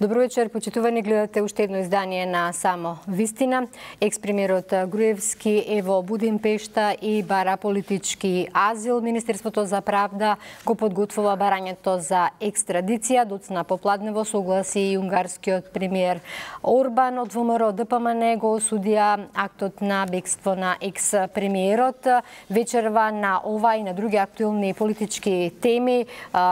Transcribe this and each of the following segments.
Добро вечер, почитувани, гледате уште едно издание на Само вистина. Екс-премиерот Груевски е во Будимпешта и бара политички азил. Министерството за правда го подготвува барањето за екстрадиција. Доцна попладнево согласи и унгарскиот премиер Орбан. Од ВМРО ДПМН го осудија актот на бегство на екс-премиерот. Вечерва на ова и на други актуелни политички теми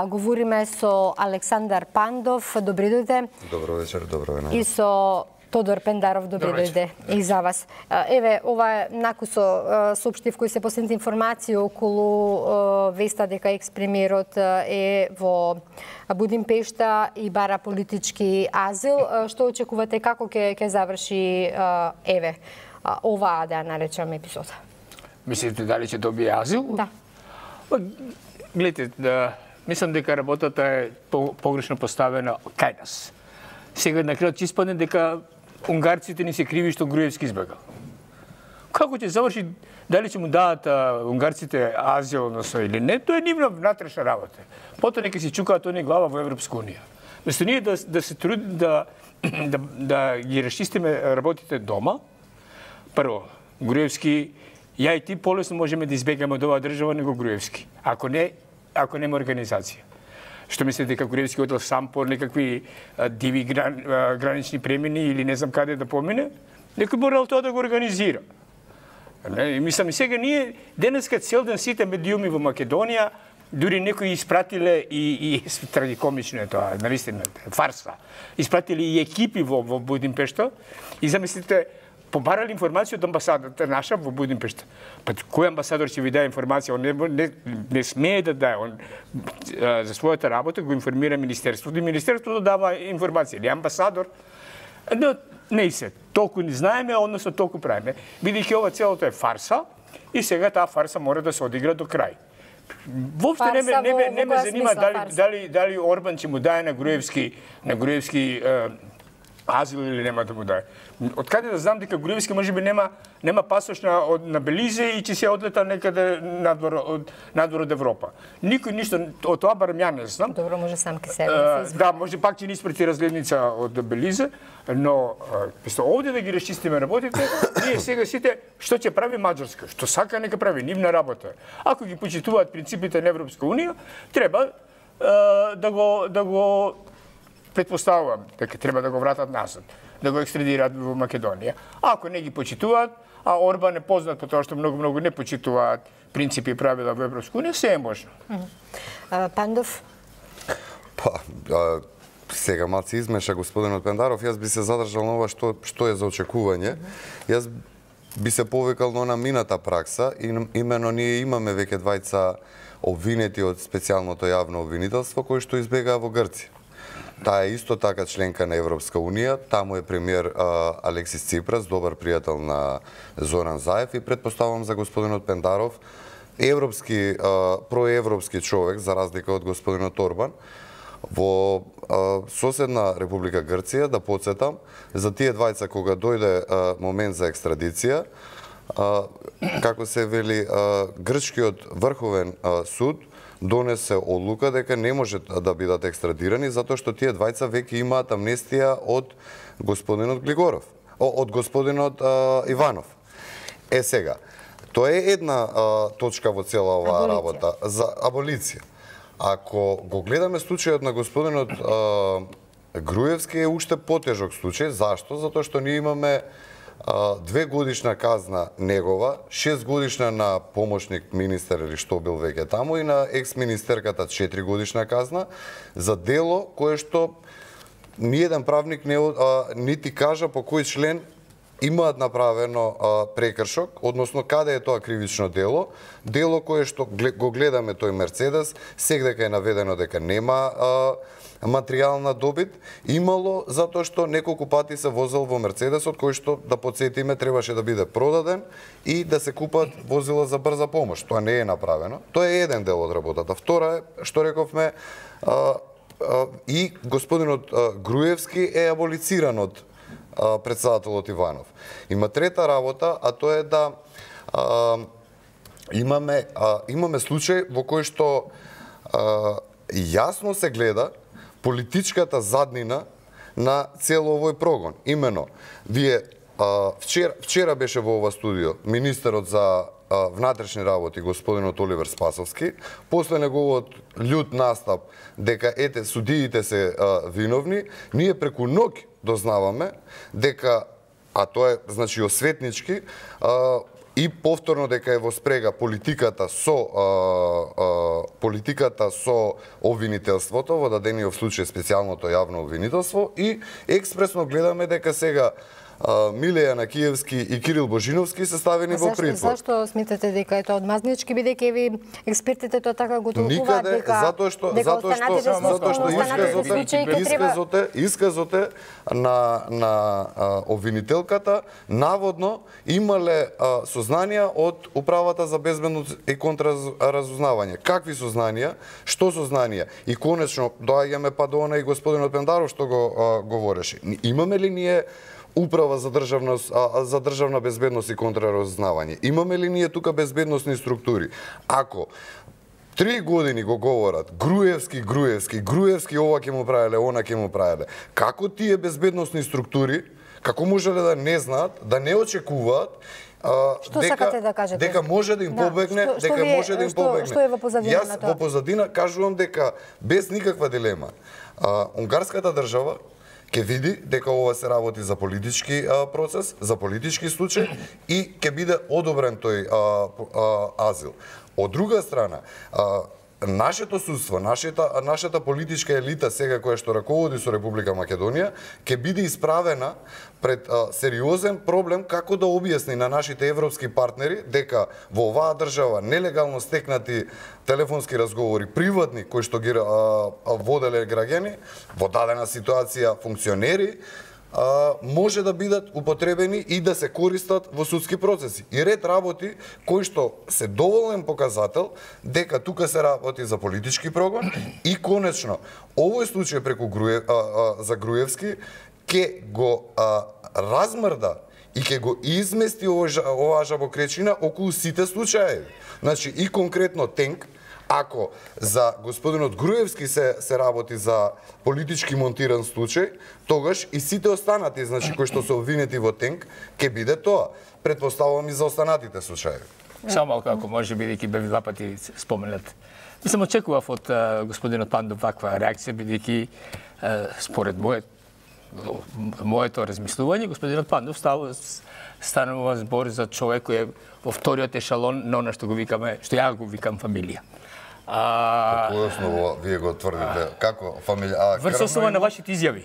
говориме со Александар Пандов. Добри дојде. Добро вечер, добро вечер. И со Тодор Пендаров, добри дојде и за вас. Еве, ова е накусо соопштив кој се последните информации околу веста дека екс-премиерот е во Будимпешта и бара политички азил. Што очекувате, како ќе заврши оваа, да наречам, епизода? Мислите дали ќе добие азил? Да. Гледайте, мислам дека работата е погрешно поставена кај нас. Сега на крајот ќе испадне дека унгарците не се криви што Груевски избегал. Како ќе заврши, дали ќе му дадат унгарците азил, односно или не, тоа е нивна внатрешна работа. Потоа нека си чукаат они глава во Европска унија. Место ние да се трудим да ги расчистиме работите дома, прво, Груевски, ја и ти полесно можеме да избегаме од оваа држава него Груевски. Ако нема организација. Што мислите дека Груевски одел сам по некакви диви гранични премини или не знам каде да помине? Некој морал тоа да го организира. Мислам, сега ние денеска цел ден сите медиуми во Македонија, дури некои испратиле и трагикомично е тоа, навистина, фарса. Испратиле и екипи во Будимпешта и замислите, побарали информација од амбасадата наша во Будимпешта. Па кој амбасадор ќе ви даде информација? Он не смее да даде. Он за својата работа го информира Министерството и Министерството дава информација. Или амбасадор? Но не се. Толку не знаеме, односно толку правиме. Бидејќи ова целото е фарса и сега таа фарса мора да се одигра до крај. Воопшто не ме занима дали Орбан ќе му даде на Груевски азил или нема да му даде. Од каде да знам дека Груевски можеби нема пасош на Белизе и ќе се одлета некаде надвор од Европа. Никој ништо од тоа барем ја не знам. Добро, може сам ке себе. Да, може пак ќе ни испрати разгледница од Белизе, но овде да ги расчистиме работите, ние сега сите што ќе прави Маđarска, што сака нека прави нивна работа. Ако ги почитуваат принципите на Европска унија, треба да го предпоставувам дека треба да го вратат назад, да го екстрадираат во Македонија. Ако не ги почитуваат, а Орбан е познат по тоа што многу не почитуваат принципи и правила во Европска унија, се е можно. Пандов? Сега малце измеша господинот Пендаров, јас би се задржал на ова што е за очекување. Јас би се повикал на мината пракса, имено ние имаме веќе двајца обвинети од специјалното јавно обвинителство кои што избегаа во Грција. Таа е исто така членка на Европска унија, таму е премиер Алексис Ципрас, добар пријател на Зоран Заев и предпоставам за господинот Пендаров, проевропски човек, за разлика од господинот Орбан, во соседна Република Грција, да подсетам, за тие двајца кога дојде момент за екстрадиција, како се вели, грчкиот врховен суд донесе одлука дека не може да бидат екстрадирани затоа што тие двајца веќе имаат амнестија од господинот Глигоров, од господинот Иванов. Сега, тоа е една точка во цела оваа работа за аболиција. Ако го гледаме случајот на господинот Груевски е уште потежок случај, зашто? Затоа што ние имаме 2 годишна казна негова, 6 годишна на помошник министер или што бил веќе таму и на екс-министерката 4 годишна казна за дело кое што ниеден правник нити кажа по кој член имаат направено прекршок, односно каде е тоа кривично дело кое што го гледаме тој Мерцедес, сега дека е наведено дека нема материјална добит, имало затоа што неколку пати се возел во Мерцедесот, кој што, да подсетиме, требаше да биде продаден и да се купат возила за брза помош. Тоа не е направено. Тоа е еден дел од работата. Втора е, што рековме, и господинот Груевски е аболициран од председателот Иванов. Има трета работа, а тоа е да имаме случај во кој што јасно се гледа политичката заднина на цел овој прогон. Имено, вие вчера беше во ова студио министерот за внатрешни работи господинот Оливер Спасовски, после неговиот љут настап дека ете судиите се виновни, ние преку ноќ дознаваме дека, а тоа е значи осветнички, и повторно дека е во спрега политиката со обвинителството, во дадениот случај специјалното јавно обвинителство, и експресно гледаме дека сега Милеја Накиевски и Кирил Божиновски се ставени во притвор. Зашто сметате дека е тоа одмазнички, бидејќи ви експертите тоа така го толкуваат дека затоа што исказот на обвинителката наводно имале сознанија од Управата за безбедност и контраразузнавање. Какви сознанија? Што сознанија? И конечно доаѓаме па до она и господинот Пендаров што го говореше. Имаме ли ние Управа за државна безбедност и контраразузнавање? Имаме ли ние тука безбедносни структури? Ако 3 години го говорат Груевски ова ќе му правеле, она ќе му правеле, како тие безбедносни структури, како можеле да не знаат, да не очекуваат Што сакате да кажете? Дека може да им побегне, Што е во позадина на тоа? Јас во позадина кажувам дека без никаква дилема унгарската држава ќе види дека ова се работи за политички процес, за политички случај и ќе биде одобрен тој азил. Од друга страна, нашето судство, нашата политичка елита сега која што раководи со Република Македонија ќе биде исправена пред сериозен проблем како да објасни на нашите европски партнери дека во оваа држава нелегално стекнати телефонски разговори приватни кои што ги воделе граѓани во дадена ситуација функционери може да бидат употребени и да се користат во судски процеси. И ред работи кои што се доволен показател дека тука се работи за политички прогон и конечно овој случај преку за Груевски ќе го размрда и ќе го измести оваа жабокречина околу сите случаи. Значи и конкретно Тенк, ако за господинот Груевски се работи за политички монтиран случај, тогаш и сите останати, значи кои што се обвинети во Тенк, ќе биде тоа. Предпоставувам и за останатите случаи. Само малку, ако може, бидејќи бе два пати споменат. Мислам, очекував од господинот Пандов ваква реакција, бидејќи според моето размислување, господинот Пандов станува збор за човек кој е во вториот ешалон на она што го викаме, што ја го викам фамилија. По која основа вие го тврдите? Како фамилија? Врз основа на вашите изјави.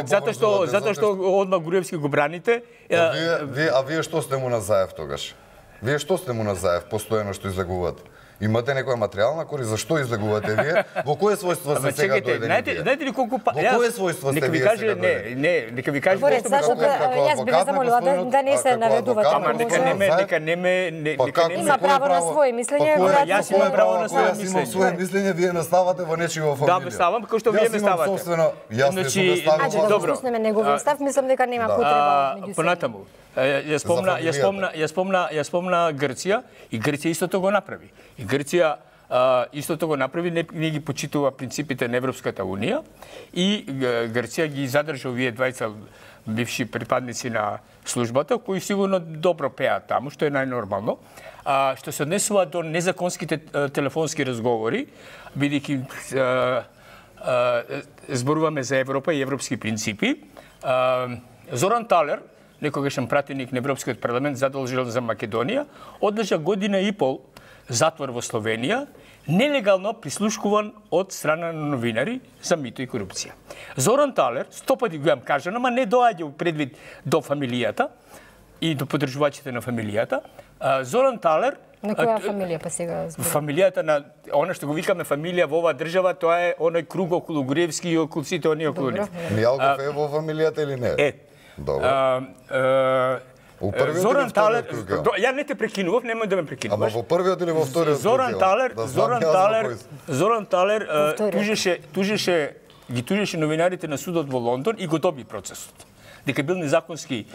Затоа што одма Груевски го браните. Вие што сте му на заев тогаш? Вие што сте му на заев постојано што излегувате? Имате некоја материјална корис за што излегувате вие? Во кое својство сте сега дојдени? Знаете ли колку Во кое својство сте вие сега дојдени? Нека ви кажа Борец, зашто јас би ве замолила да не се наведувате. Ама нека не ме има право на своје мислење. Јас имам право на своје мислење. Јас имам своје мислење, вие наставате во нечија фамилија. Да, ставам како што вие ме ставате. Јас не сум наставил. Добро. Да неговиот став, мислам дека нема потреба меѓу понатаму. Ја спомна Грција и Грција истото го направи. И Грција истото го направи, не ги почитува принципите на Европската Унија и Грција ги задржа овие двајца бивши припадници на службата, кои сигурно добро пеат таму, што е најнормално. Што се однесува до незаконските телефонски разговори, бидејќи зборуваме за Европа и европски принципи, Зоран Талер, некогашен пратеник на Европскиот парламент задолжен за Македонија, одлежа година и пол затвор во Словенија, нелегално прислушкуван од страна на новинари за мито и корупција. Зоран Талер, 100 пати го имам кажано, ама не доаѓа предвид до фамилијата и до поддржувачите на фамилијата. Зоран Талер на која фамилија па сега зборуваме? Фамилијата на она што го викаме фамилија во оваа држава, тоа е оној круг околу Груевски и околу сите оние околу нив. Мијалков е во фамилијата или не? Добро. Зоран Талер, ја не те прекинував, немој да ме прекинуваш. Ама во првиот или во вториот? Зоран Талер ги тужеше новинарите на судот во Лондон и го доби процесот. Дека бил незаконски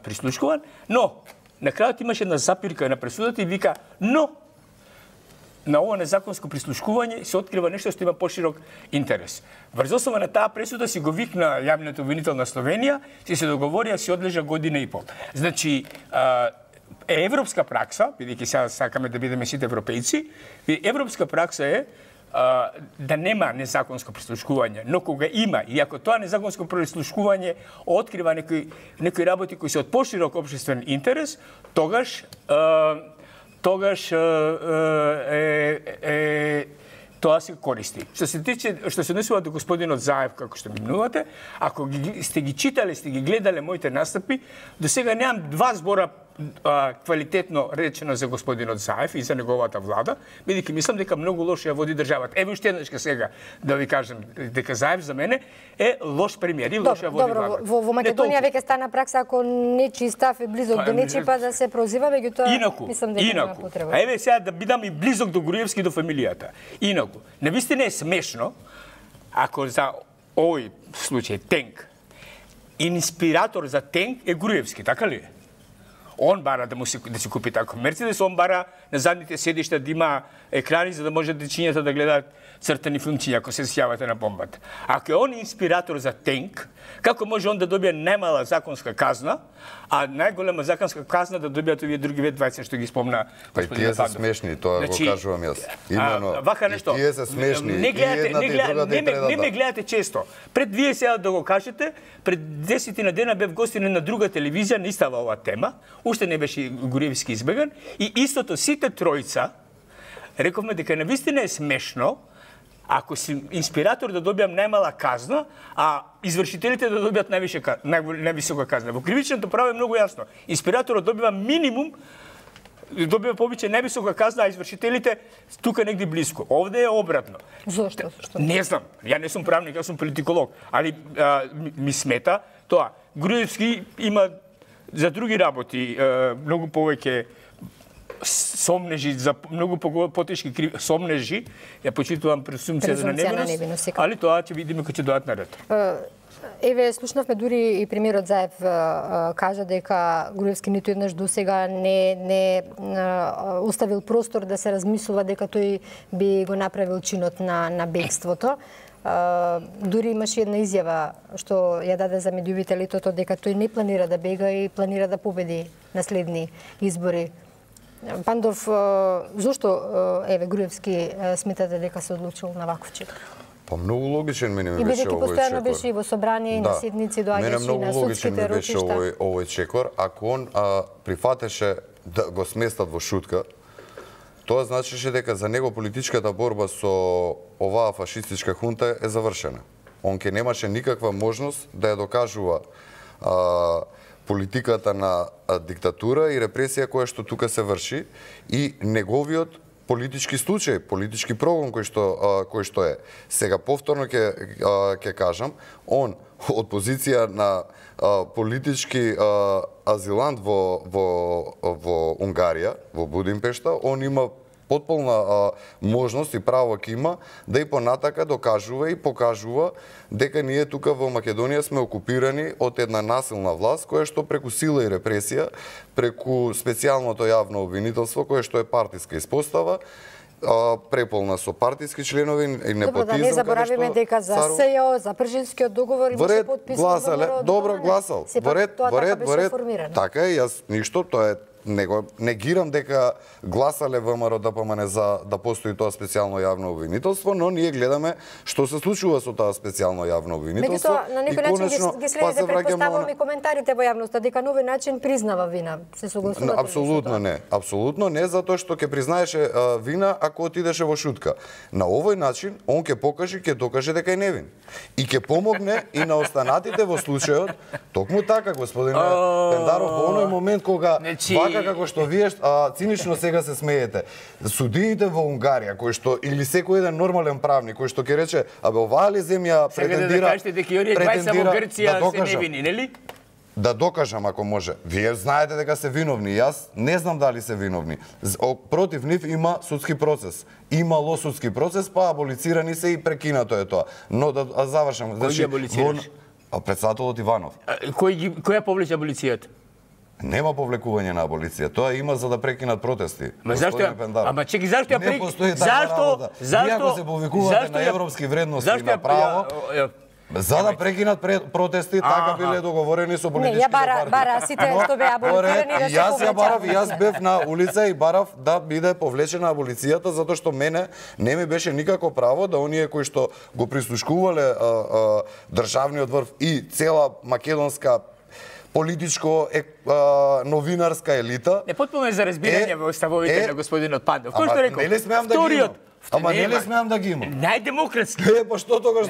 прислушкуван, но на крајот имаше една запирка на пресудата и вика, но на ова незаконско прислушкување се открива нешто што има поширок интерес. Врз основа на таа пресуда си го викна јавниот обвинител на Словенија, се договорија си одлежа година и пол. Значи, европска пракса, бидејќи сега сакаме да бидеме сите европејци, европска пракса е да нема незаконско прислушкување, но кога има, и ако тоа незаконско прислушкување открива некои работи кои се од поширок општествен интерес, тогаш тоа се користи. Што се однесува до господинот Заев, како што минувате, ако сте ги читале, сте ги гледале моите настапи, до сега немам два збора квалитетно речено за господинот Заев и за неговата влада, бидејќи мислам дека многу лошо ја води државата. Еве уште еднаш сега да ви кажам дека Заев за мене е лош премиер и лошо ја води влада. Во Македонија веќе стана пракса ако нечи став е близок до нечи па да се прозива, меѓутоа мислам дека нема потреба. Еве сега да бидам и близок до Груевски, до фамилијата. Инаку, навистина е смешно ако за овој случај Тенк инспиратор за Тенк е Груевски, така ли е? Он бара да си купи тако Мерцедес, он бара на задните седишта да има екрани за да може дечињата да гледаат цртани филмчиња ако се сјавате на бомбата. Ако е он инспиратор за Тенк, како може он да добие најмала законска казна, а најголема законска казна да добијат овие други 20 што ги спомна господин Пандов? Тие се смешни, тоа го кажувам јас. Имено, вака нешто. Тие се смешни. Не ме гледате често. Пред вие сега да го кажете, пред 10 дена бев гостин на друга телевизија, не става оваа тема, уште не беше Груевски избеган и истото сите тројца рековме дека навистина е смешно ако си инспиратор да добиам најмала казна, а извршителите да добијат највисока казна. Во кривичното право е многу јасно. Инспираторот добива минимум, добива повеќе највисока казна, а извршителите тука негде близко. Овде е обратно. Зошто? Не знам. Ја не сум правник, јас сум политиколог, али ми смета тоа. Груевски има за други работи многу повеќе сомнежи, за многу потешки сомнежи, ја почитувам презумција на невиност, али тоа ќе видиме кога ќе дојдат на ред. Еве, слушнавме дури и премиерот Заев кажа дека Груевски ниту еднаш досега не оставил простор да се размислува дека тој би го направил чинот на бегството. Дури имаше една изјава што ја даде за медиумите летото дека тој не планира да бега и планира да победи на следни избори. Пандов, зошто еве Груевски сметате дека се одлучил на ваков чекор? Па многу логичен мене ми беше овој чекор. И бидејќи постојано беше и во собрание и на седници доаѓаше и на судските ротишта. Мене многу логичен ми беше овој чекор, ако он прифатеше да го сместат во шутка, тоа значеше дека за него политичката борба со оваа фашистичка хунта е завршена. Он ке немаше никаква можност да ја докажува политиката на диктатура и репресија која што тука се врши и неговиот политички случај, политички прогон кој што е. Сега повторно ќе кажам, он од позиција на политички азилант во Унгарија, во Будимпешта, он има потполна можност и право ќе има да и понатака докажува и покажува дека ние тука во Македонија сме окупирани од една насилна власт која што преку сила и репресија, преку специјалното јавно обвинителство кое што е партиска испостава, преполна со партиски членови и непотизм. Добро, да не заборавиме дека за СЈО, за Пршинскиот договор имаше подписано. Добро, гласал. Во ред. Така е, јас ништо, тоа е не гирам дека гласале ВМРО ДПМН за да постои тоа специјално јавно обвинителство, но ние гледаме што се случува со тоа специјално јавно обвинителство. Меѓутоа, на некој начин ги следите претпоставувам и коментарите во јавноста дека на овој начин признава вина. Се согласувате? Апсолутно не, затоа што ќе признаеше вина ако отидеше во шутка. На овој начин он ќе докаже дека е невин. И ќе помогне и на останатите во случајот. Токму така, господине Пендаров, во оној момент кога како што вие цинично сега се смеете. Судиите во Унгарија, кои што или секој еден нормален правник кој што ќе рече, абе оваа ли земја претендира да докаже, да докажам ако може. Вие знаете дека се виновни, јас не знам дали се виновни. Против нив има судски процес. Имало судски процес, па аболицирани се и прекинато е тоа. Но да завршам. Кој ги аболицираш? Председателот Иванов. Кој ја повлече аболицијата? Нема повлекување на аболиција. Тоа има за да прекинат протести. Ама зашто? Ама чеки, зашто ја Не постои таква работа. Вие ако се повикувате на европски вредности и на право, за да прекинат протести, така биле договорени со политичките партии. Не, ја бара сите што беа аболицирани да се Јас ја барав, јас бев на улица и барав да биде повлечена аболицијата, затоа што мене не ми беше никако право да оние кои што го прислушкувале државниот врв и цела македонска политичко новинарска елита. Не потпуно е за разбирање во ставовите на господинот Пандов. Кој што рекол? Не ли смеам да ги имам? Ама не ли смеам да ги имам? Најдемократски. Па што тогаш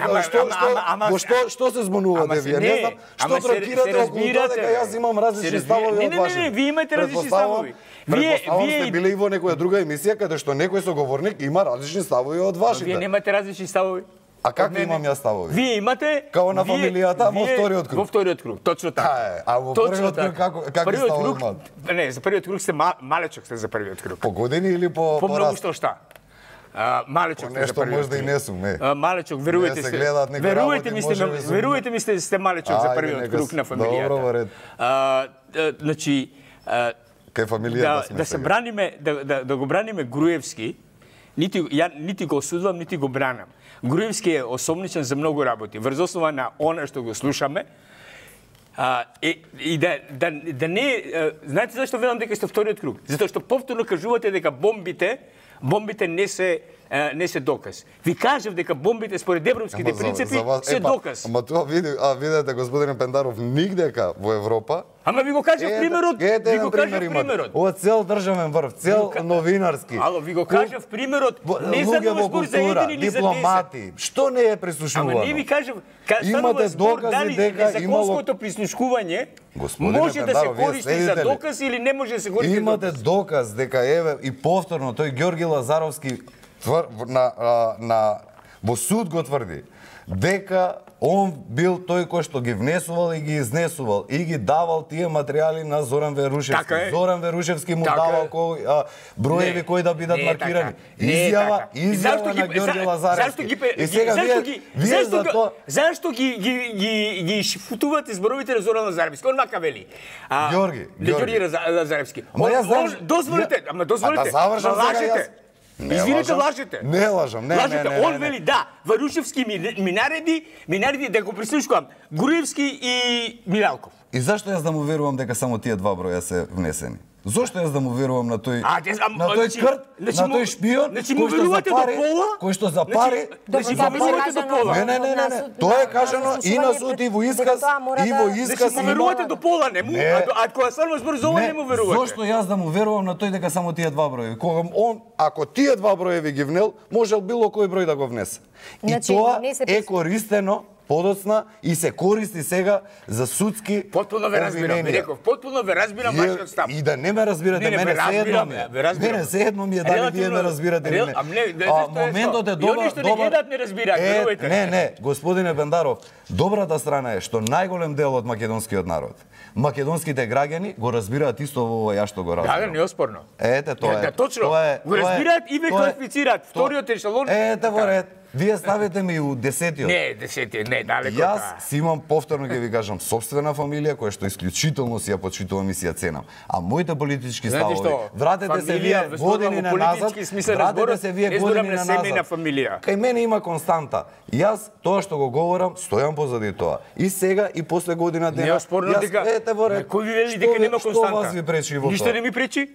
што се збунувате вие? Не знам што трокирате околу тоа дека јас имам различни ставови од вашите. Не, вие имате различни ставови. Предпоставам сте биле и во некоја друга емисија каде што некој соговорник има различни ставови од вашите. Вие немате различни ставови. А како имам јас ставови? Вие имате као на фамилијата во вториот круг. Во вториот круг, точно така. А во првиот круг какви ставови имате? Не, за првиот круг сте малечок сте за првиот круг. По години или по по многу што? Малечок сте за првиот круг. Нешто можда и не сум, малечок, верувате сте. Верувате ми сте малечок за првиот круг на фамилијата. Добро, во ред. Значи кај фамилијата сме. Да се браниме, да го браниме Груевски, нити го осудувам, нити го бранам. Груевски е осомничен за многу работи. Врз основа на она што го слушаме, и да не... Знаете зашто велам дека сте вториот круг? Затоа што повторно кажувате дека бомбите не се доказ. Ви кажав дека бомбите според европските принципи се доказ. Ама тоа видете, господине Пендаров, нигдека во Европа. Ама ви го кажав примерот. Ви го кажав примерот. Од цел државен врв, цел новинарски. Ало, ви го кажав примерот. Не станува збор за еден или за 10. Дипломати. Што не е прислушувано? Ама не ви кажав, имате докази дека незаконското прислушкување може да се користи за доказ или не може да се користи. Имате доказ дека еве и повторно тој Ѓорги Лазаровски во суд го тврди дека он бил тој кој што ги внесувал и ги изнесувал и ги давал тие материјали на Зоран Верушевски. Зоран Верушевски му давал броеви кои да бидат маркирани. Изјава на Ѓорги Лазаровски. И сега вие за тоа... Зашто ги шифутувате зборовите на Зоран Лазаровски? Он мака вели. Ѓорги Лазаровски. Дозволите. Да завршам сега јас. Извините, лажете. Не лажам, не. Он вели да, Варушевски ми нареди да го прислушкувам Груевски и Милалков. И зашто јас да му верувам дека само тие два броја се внесени? Зошто јас да му верувам на тој крт, на тој шпион, кој што запари, Не. Тоа е кажано и на суд и во исказ, Значи му верувате до пола, не му, а кога станува збор за ова не му верувате. Зошто јас да му верувам на тој дека само тие два броја? Кога он, ако тие два броеви ги внел, можел било кој број да го внесе. И тоа е користено подоцна и се користи сега за судски Потпуно ве разбирам, реков, потпуно ве разбирам вашиот став. И да не ме разбирате, мене седно ми е дали вие ме разбирате или не. Моментот е добар. Не разбираат, верувајте. Не, господине Бендаров, добрата страна е што најголем дел од македонскиот народ, македонските граѓани го разбираат исто во ова ја што го разбирам. Да, неоспорно. Ете тоа е. Точно. Го разбираат и ве класифицираат. Вториот ешелон. Ете во ред. Вие ставите ми у 10-тиот. Не, 10-тиот, не, далеко таа. Јас си имам, повторно ќе ви кажам, собствена фамилија која што исклучително си ја почитувам и си ја ценам. А моите политички ставови, вратете се вие години на назад, вратете се вие години на назад. Кај мене има константа. Јас тоа што го говорам, стојам позади тоа. И сега и после година дена. Неоспорно дека. Ете во ред. Кој ви вели дека нема константа? Што вас ви пречи во тоа? Ништо не ми пречи.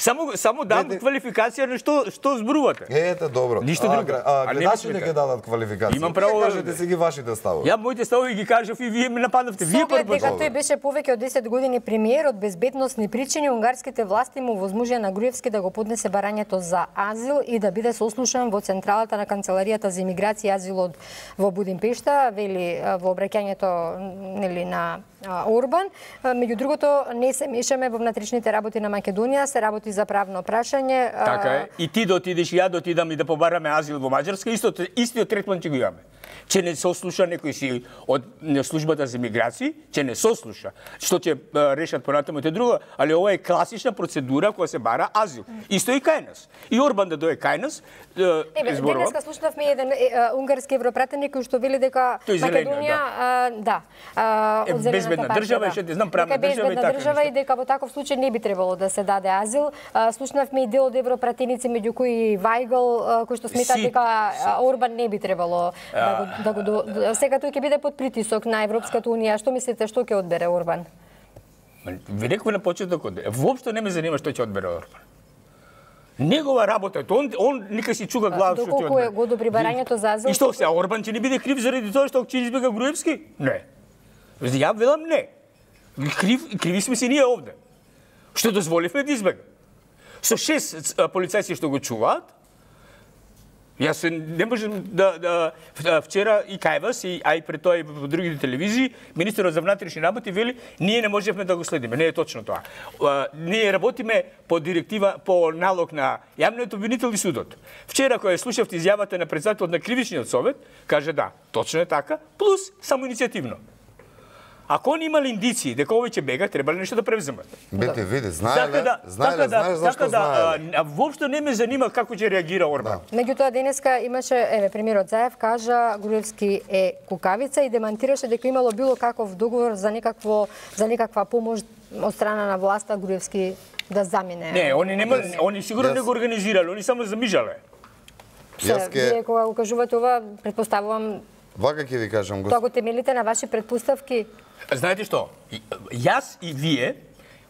Само дам квалификација на што зборувате. Ете, добро. Ништо друго. Гледачите ќе дадат квалификација. Имам право да кажете си ги вашите ставови. Ја моите ставови ги кажав и вие ме нападнавте. Вие прво дека тој беше повеќе од 10 години премиер, од безбедносни причини унгарските власти му возможија на Груевски да го поднесе барањето за азил и да биде сослушан во централата на канцеларијата за имиграција и азил во Будимпешта, вели во обраќањето нели на Орбан. Меѓу другото, не се мешаме во внатрешните работи на Македонија, се работи за правно прашање. Така е. И ти да отидеш и ја да отидам и да побараме азил во Маđарска, истиот третман ќе го имаме. Че не сослуша некој си од службата за имиграција, че не сослуша. Што ќе решат понатаму е друго, али ова е класична процедура која се бара азил. Исто и кај нас. И Орбан да дое кај нас, денеска слушнавме еден унгарски европратеник кој што вели дека Македонија, без безбедна држава и што ти знам правна држава и така држава и дека во таков случај не би требало да се даде азил. Слушнавме и дел од европратеници меѓу кои Вајгл кои што сметаат дека Орбан не би требало да го сега тој ќе биде под притисок на Европската унија. Што мислите што ќе одбере Орбан? Ви реков на почетокот, воопшто не ме занима што ќе одбере Орбан. Негова работа е, он нека си чуга глава што ќе одбере. Доколку го одобри барањето за азил? И што се, Орбан ќе не биде крив заради тоа што ќе избега Груевски? Не. Ја велам не. Криви сме си ние овде. Што дозволивме да избега. Со 6 полицајци што го чуваат, јас не можем да вчера и кај вас, а и пред тоа и по другите телевизии, министерот за внатрешни работи вели, ние не можевме да го следиме. Не е точно тоа. Ние работиме по директива, по налог на јавниот обвинител и судот. Вчера кога слушавте изјавата на претседателот на кривичниот совет, каже да, точно е така, плюс самоиницијативно. Ако они имали индиции дека овој ќе бега, требале нешто да превземат. Бете, види, знаеле зашто знаеле. Воопшто не ме занима како ќе реагира Орбан. Меѓутоа денеска имаше, премиерот Заев кажа Груевски е кукавица и демантираше дека имало било каков договор за некаква помош од страна на власта Груевски да замине. Не, они сигурно не го организирале, они само замижале. Вие кога го кажувате ова, предпоставувам вака ќе ви кажам, тоа го темелите на ваши предпоставки. Знаете што? Јас и вие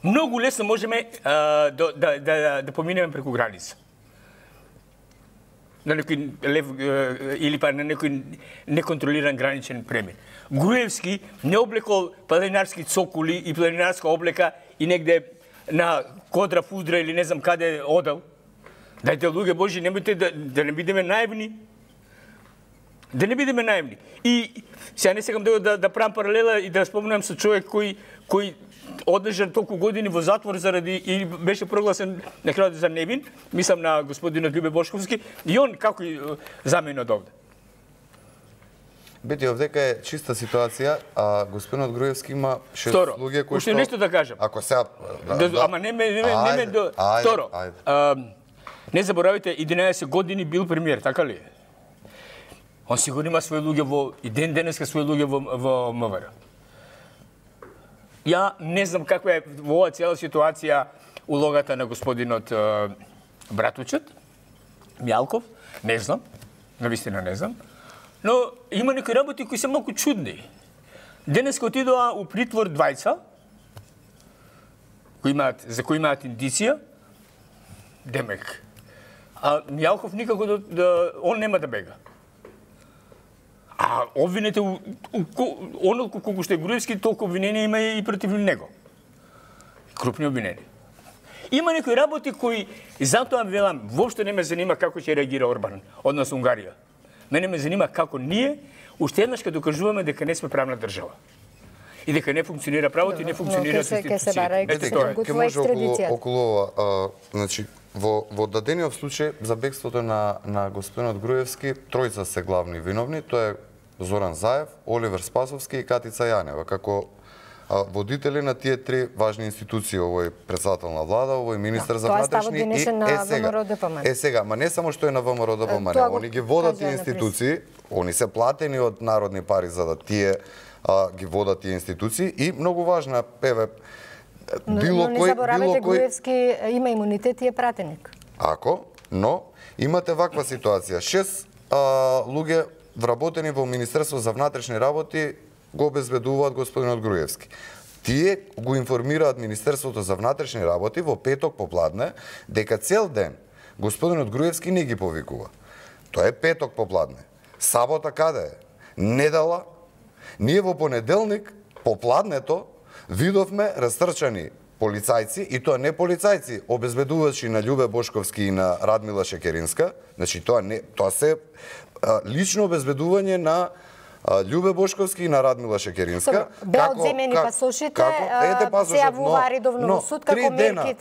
многу лесно можеме да поминеме преку граница. На некој лев или па на некој неконтролиран граничен премин. Груевски не облекол планинарски цокули и планинарска облека и негде на Кодра, Фудра или не знам каде одел. Дајте, луѓе Божи, немојте да не бидеме наивни. Да не бидеме наивни. И сега не сакам да правам паралела и да спомнам со човек кој одлежан толку години во затвор заради и беше прогласен на крајот за невин, мислам на господинот Љубе Бошковски, и он како замина од овде. Бети, овдека е чиста ситуација, а господинот Груевски има 6 луѓе кои што... нешто да кажам. Ако сега... Ама не ме... Второ, не заборавите, 11 години бил премиер, така ли? Он сигурно има своји луѓе и денеска своји луѓе во МВР. Ја не знам каква е во оваа цела ситуација улогата на господинот Братучет, Мјалков, не знам, навистина не знам, но има некои работи кои се малку чудни. Денеска отидоа у притвор двајца, за кои имаат индиција, демек. А Мјалков никако он нема да бега. А обвинете, оно колку што е Груевски, толку обвиненија има и против него. Крупни обвиненија. Има некои работи кои, затоа велам, воопшто не ме занима како ќе реагира Орбан, односно Унгарија. Мене ме занима како ние, уште еднаш ќе докажуваме дека не сме правна држава. И дека не функционира правото и не функционираат институциите. Ке може околу ова, значи, во дадениот случај за бегството на господинот Груевски, тројца се главни виновни, тоа е Зоран Заев, Оливер Спасовски и Катица Јанева, како водители на тие три важни институции, овој председател на влада, овој министер за внатрешни и сега, ма не само што е на ВМРО-ДПМН, они ги водат тие институции, они се платени од народни пари за да тие ги водат тие институции и многу важна, но не заборавете, Груевски има имунитет и е пратеник. Но имате ваква ситуација. 6 луѓе вработени во Министерство за внатрешни работи го обезбедуваат господинот Груевски. Тие го информираат Министерството за внатрешни работи во петок попладне дека цел ден господинот Груевски не ги повикува. Тоа е петок попладне. Сабота каде е? Недела. Ние во понеделник попладнето видовме растрчани полицајци, и тоа не полицајци, обезбедувачи на Љубе Бошковски и на Радмила Шекеринска, значи тоа се лично обезбедување на Љубе Бошковски и на Радмила Шекеринска. Беа одземени пасошите, се јавува редовно во суд како мерки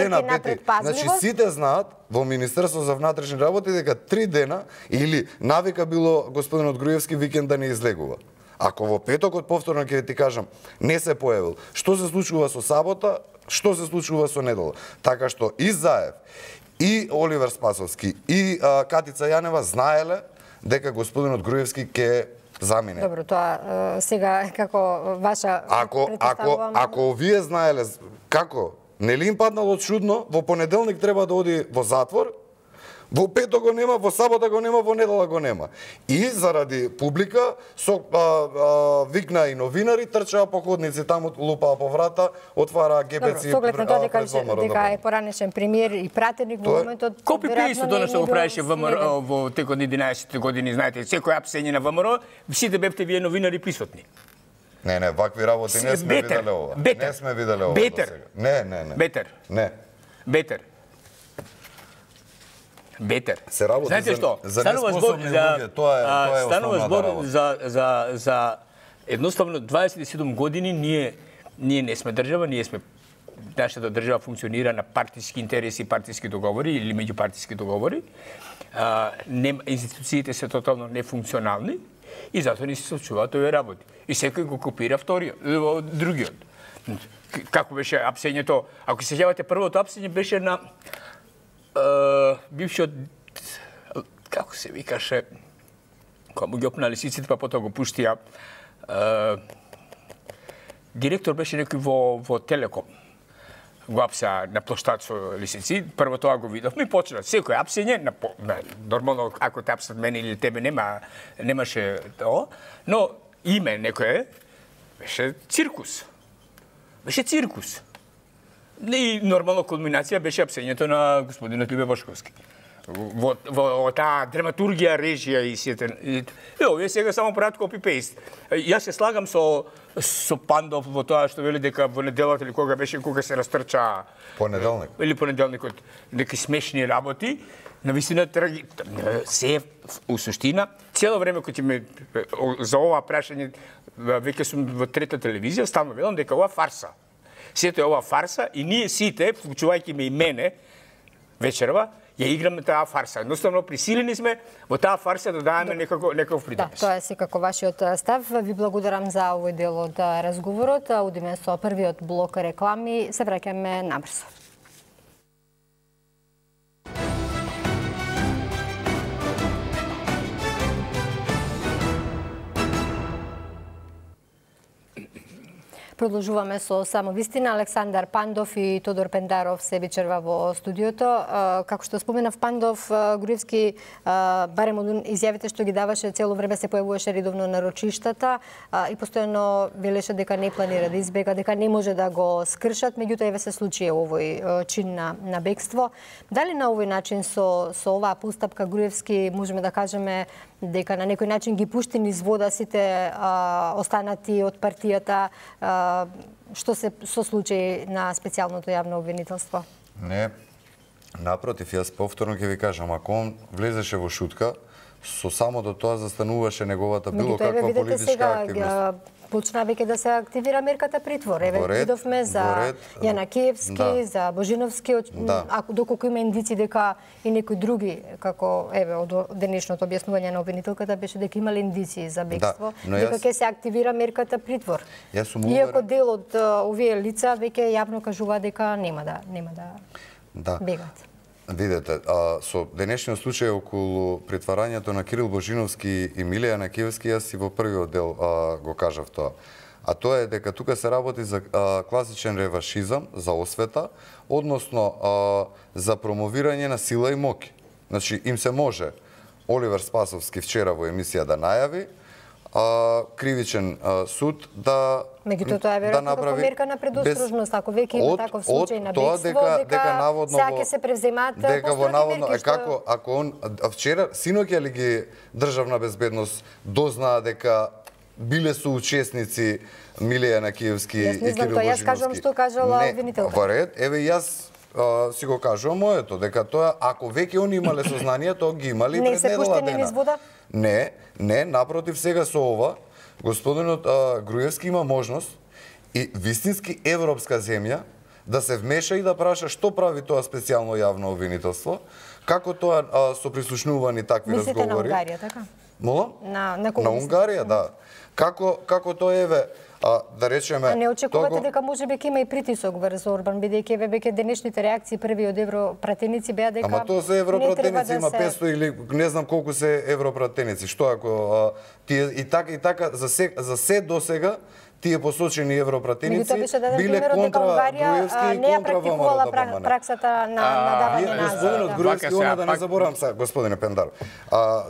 на предпазливост. Значи сите знаат во Министерство за внатрешни работи дека 3 дена или навика било господинот Груевски викенд да не излегува. Ако во петокот повторно ќе ти кажам не се појавил, што се случува со сабота, што се случува со недела? Така што и Заев, и Оливер Спасовски, и Катица Јанева знаеле дека господинот Груевски ќе замине. Добро, тоа сега како ваша Ако вие знаеле како, нели им паднало чудно, во понеделник треба да оди во затвор, во петок го нема, во сабота го нема, во недела го нема. И заради публика, со викна и новинари, трчаа по ходници, таму лупаа по врата, отвараа гепеци. Добро, соглед на тоа дека е поранешен премиер и пратеник во моментот. Копи-пейст тоа што го правеше ВМРО во текот на 11 години, знаете, секој апсење на ВМРО, сите бевте вие новинари присутни. Не, вакви работи не сме виделе ова. Не сме виделе ова. Бетер. Не. Бетер. Не. Бетер. Бетер. Се работи знаете што? За неспособни луѓе, тоа е основната работа. За едноставно 27 години ние не сме држава, ние сме нашата држава функционира на партиски интереси, партиски договори или меѓупартиски договори. Институциите се тотално нефункционални и затоа не се случуваат овие работи. И секој го копира другиот. Како беше апсењето? Ако се сеќавате, првото апсење беше на бившиот, како се викаше, кога му ги опнали сиците, па потоа го пуштија, директор беше некој во Телеком. Го апса на площад со лисици, прво тоа го видовме и почна секој апсење, нормално ако те апсат мене или тебе немаше тоа, но име некое беше циркус. И нормално кулминација беше апсењето на господинот Љубе Бошковски. Во таа драматургија, режија и сите. Овие сега само прават копи-пейст. Јас се слагам со Пандов во тоа што вели дека во неделата или кога беше, кога се растрча понеделник. Или понеделникот, неки смешни работи. Навистина се у суштина цело време кога ме за ова прашање веќе сум во трета телевизија, стално велам дека ова фарса. Сето е ова фарса и ние сите, вклучувајќи ме и мене, вечерва, ја играме таа фарса. Едноставно присилени сме во таа фарса да даваме некаков придонес. Да, тоа е секако вашиот став. Ви благодарам за овој дел од разговорот. Одиме со првиот блок реклами. Се враќаме набрзо. Продолжуваме со само вистина. Александар Пандов и Тодор Пендаров се вечерва во студиото. Како што споменав, Пандов, Груевски, барем од изјавите што ги даваше, цело време се појавуваше редовно на рочиштата и постојано велеше дека не планира да избега, дека не може да го скршат, меѓутоа еве се случи овој чин на бегство. Дали на овој начин со оваа постапка Груевски можеме да кажеме дека на некој начин ги пушти низ вода сите останати од партијата, што се со случај на специјалното јавно обвинителство? Не, напротив, јас повторно ќе ви кажам, ако он влезеше во шутка, со самото тоа застануваше неговата било каква политичка активност. Почна веќе да се активира мерката притвор. Еве видовме за Јанакиевски, за Божиновски, доколку има индици дека и некои други, како еве од денешното објаснување на обвинителката беше дека имале индици за бегство, дека ќе се активира мерката притвор. Иако дел од овие лица веќе јавно кажува дека нема да бегат. Видете, со денешниот случај околу притварањето на Кирил Божиновски и Миле Јанакиевски, јас и во првиот дел го кажав тоа. А тоа е дека тука се работи за класичен реваншизам, за освета, односно за промовирање на сила и моќ. Значи, им се може Оливер Спасовски вчера во емисија да најави кривичен суд да меѓутоа тоа е веројатно како мерка на предострожност, ако веќе има таков случај на бегство, дека сега ќе се превземаат построги мерки. Ако он вчера, синоќа ли ги државна безбедност дознаа дека биле соучесници Миле Јанакиевски и Кирил Божиновски? Јас кажувам што кажала обвинителката. Во ред, еве јас си го кажувам моето, дека тоа, ако веќе они имале сознание, тоа ги имали пред недела дена. Не се пуштени низ вода? Не, напротив, сега со ова, господинот Груевски има можност и вистински европска земја да се вмеша и да праша што прави тоа специјално јавно обвинителство, како тоа со прислушнувани такви разговори. Мислите на Унгарија, така? Молам? На Унгарија, да. Како тоа еве Да речеме... А не очекувате дека можеби ќе има и притисок врз Орбан, бидејќи веќе денешните реакции први од европратеници беа дека... Ама тоа се европратеници, има 500 или не знам колку се европратеници. Што ако тие и така за се досега тие посочени европратеници биле контра Груевски и контра ВМРО ДПМН. Праксата на давање на Господинот Груевски, да не заборавам сега, господине Пендар,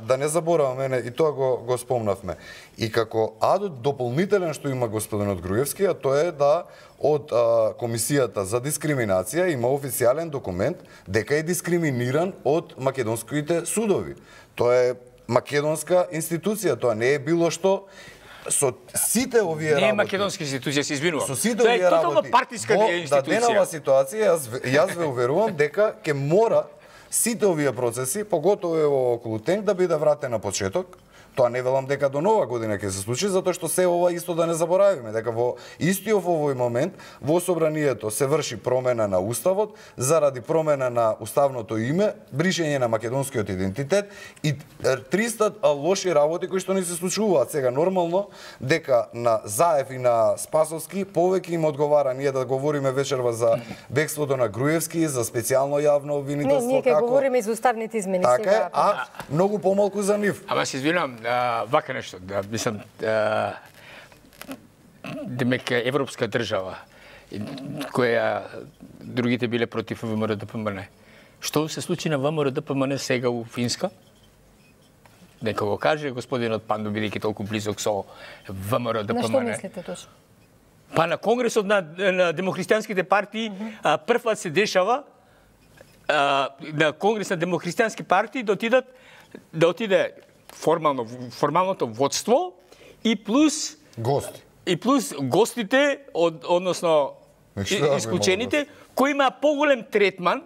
да не забораваме, и тоа го спомнавме. И како адот дополнителен што има господинот Груевски, а тоа е да од Комисијата за дискриминација има официјален документ дека е дискриминиран од македонските судови. Тоа е македонска институција, тоа не е било што. Со сите овие работи... Не е македонска институција, се извинувам. Со сите овие работи... Тоа е тотално партиска институција. Во даденава ситуација, јас ве уверувам дека ќе мора сите овие процеси, поготово е околу ТЕНК, да биде вратен на почеток. Тоа не велам дека до нова година ќе се случи, затоа што се ова исто да не заборавиме, дека во истиот овој момент во собранието се врши промена на уставот заради промена на уставното име, бришење на македонскиот идентитет и 300 лоши работи кои што не се случуваат сега. Нормално дека на Заев и на Спасовски повеќе им одговара ние да говориме вечерва за бегството на Груевски, за специјално јавно обвинителство, ние ќе говориме и за уставните измени така сега. А многу помалку за нив. Ама се извинувам, вака нешто, мислам, демек европска држава, која другите биле против ВМРО ДПМН. Што се случи на ВМРО ДПМН сега у Финска? Нека го каже господинот Панду, бидејќи толку близок со ВМРО ДПМН. На што мислите точно? Па на Конгресот на демохристијанските партии првпат се дешава на Конгрес на демохристијански партии да отиде формалното водство и плюс гостите односно исклучените кои има поголем третман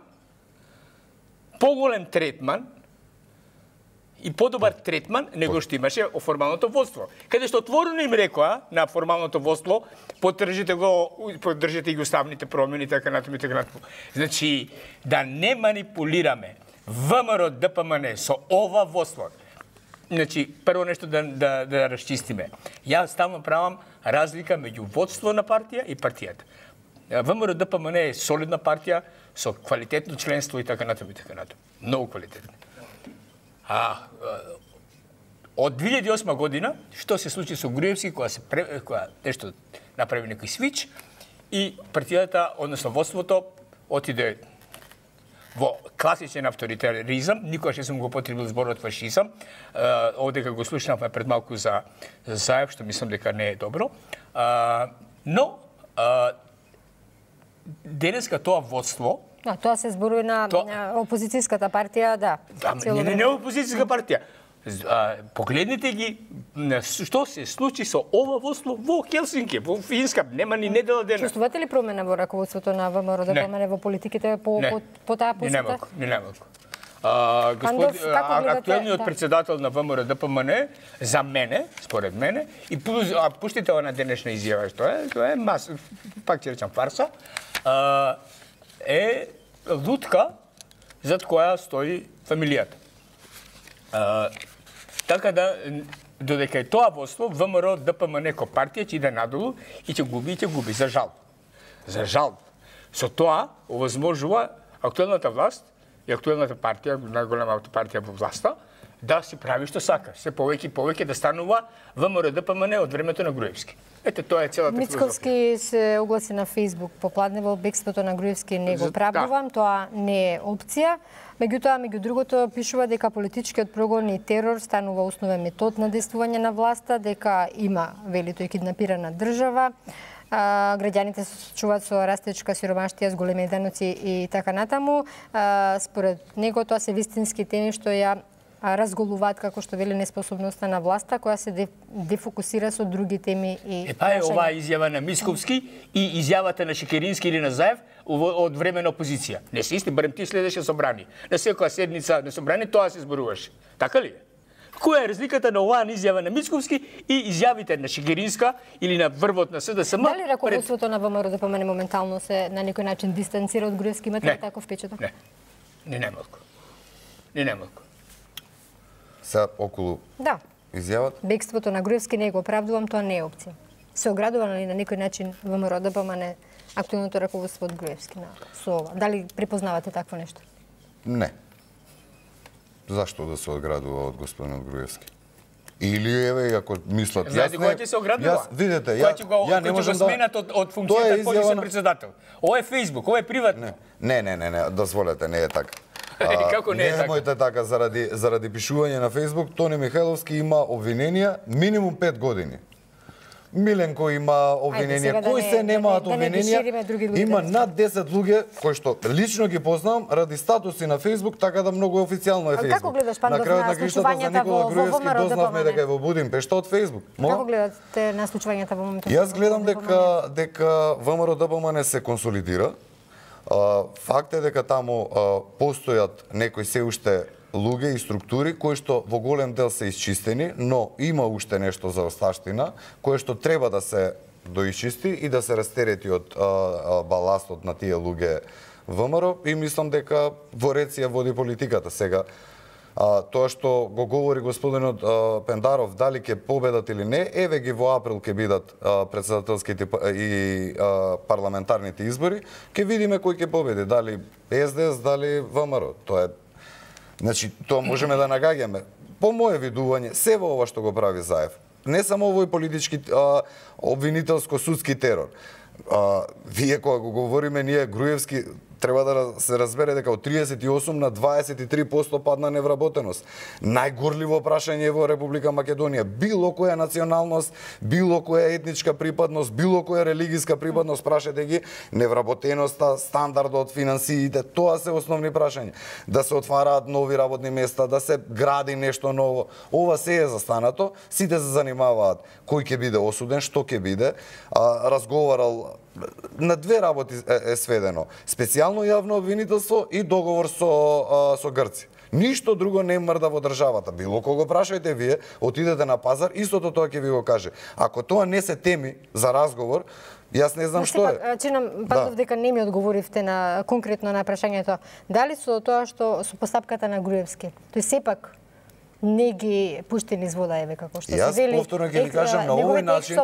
и подобар третман него што имаше формалното водство. Каде што отворено им рекоа на формалното водство поддржите ги уставните промени така натаму. Значи да не манипулираме ВМРО ДПМН со ова водство. Значи, прво нешто да расчистиме. Јас ставно правам разлика меѓу водство на партија и партијата. ВМРО ДПМН е солидна партија со квалитетно членство и така натаму. Многу квалитетно. Од 2008 година, што се случи со Груевски, која нешто направи некој свич и партијата, односно водството, отиде во класичен авторитаризам, никогаш не сум го потребил зборот фашизам. Одека го слушнавме пред малку за Заев, што мислам дека не е добро. Но денеска тоа водство... Тоа се зборува на опозицијската партија, да. Не опозицијска партија. Погледнете ги што се случи со ова водство во Хелсинки, во Финска, нема ни недела дена. Чувствувате ли промена во раководството на ВМРО ДПМН во политиките по таа посета? Не немалку. Актуелниот председател на ВМРО ДПМН за мене, според мене, и пуштите на денешна изјава, што е пак ќе речам фарса, е лутка зад која стои фамилијата. Така да, додека е тоа водство, ВМРО ДПМН ко партија ќе иде надолу и ќе губи, за жал. За жал. Со тоа овозможува актуелната власт и актуелната партија, најголемата партија во власта, да си прави што сака. Се повеќе да станува ВМРО ДПМН од времето на Груевски. Ете, тоа е целата филозофија. Мицковски се огласи на Фейсбук попладнево, бегството на Груевски не го правдувам, тоа не е опција. Меѓутоа, меѓу другото, пишува дека политичкиот прогон и терор станува основен метод на действување на власта, дека има, вели тој, киднапирана држава, граѓаните се соочуваат со растечка сиромаштија, с големи даноци и така натаму. Според него тоа се вистински теми што ја разголуваат, како што вели, неспособноста на власта, која се дефокусира со други теми и Па е оваа изјава на Мицковски и изјавата на Шекерински или на Заев од време на опозиција. Не се исти, барем ти следеше собрани. На секоја седница на собрани тоа се зборуваше. Така ли? Која е разликата на оваа изјава на Мицковски и изјавите на Шекеринска или на врвот на СДСМ? Дали раководството на ВМРО ДПМН моментално се на некој начин дистанцира од Груевски? Имате ли таков впечаток? Не немалку. Сега околу изјавата? Бегството на Груевски не го оправдувам, тоа не е опција. се оградува на некој начин ВМРО ДПМН актуелното раководство од Груевски со ова? Дали препознавате такво нешто? Не. Зашто да се оградува од господинот Груевски? Или еве ако мислат знаете кој ќе се оградува? Видете, ја не можам да сменат од функцијата полисен председател. Ова е Facebook, ова е приватно. Не, дозволете, не е така. Како не е така? Немојте така заради пишување на Facebook. Тони Михајловски има обвиненија минимум 5 години. Миленко има обвиненија, кои се немаат обвиненија. Има над 10 луѓе кои што лично ги познавам ради статуси на Facebook, така да многу официјално е Facebook. Како гледаш, Пандов, на случувањата во Груевски дознавме дека е во Будимпешта од Facebook. Како гледате на случувањата во моментот? Јас гледам дека ВМРО ДПМН се консолидира. Факт е дека таму постојат некои се уште луѓе и структури кои што во голем дел се исчистени, но има уште нешто за осташтина кое што треба да се доисчисти и да се растерети од баластот на тие луѓе ВМРО и мислам дека во ред си ја води политиката сега. Тоа што го говори господинот Пендаров, дали ќе победат или не, еве ги во април ќе бидат претседателските и парламентарните избори, ќе видиме кој ќе победи, дали СДС, дали ВМРО. Тоа е, значи, тоа можеме да нагаѓаме. По моје видување, се во ова што го прави Заев, не само овој политички обвинителско-судски терор. Вие кога го говориме, ние Груевски треба да се разбере дека од 38 на 23% падна невработеност. Најгорливо прашање во Република Македонија. Било која националност, било која етничка припадност, било која религиска припадност, прашете ги, невработеноста, стандардот, финансиите, тоа се основни прашања. Да се отвараат нови работни места, да се гради нешто ново. Ова се е застанато, сите се занимаваат кој ќе биде осуден, што ќе биде. Разговарал на две работи е сведено. Специјално јавно обвинителство и договор со Грци. Ништо друго не мрда во државата. Било кого прашајте вие, отидете на пазар, истото тоа ќе ви го каже. Ако тоа не се теми за разговор, јас не знам што е. Чинам, Пандов, дека не ми одговоривте на конкретно на прашањето. Дали со тоа што со постапката на Груевски, тој сепак не ги пушти низ вода, еве како што се вели. Јас повторно ќе ви кажам, на овој начин,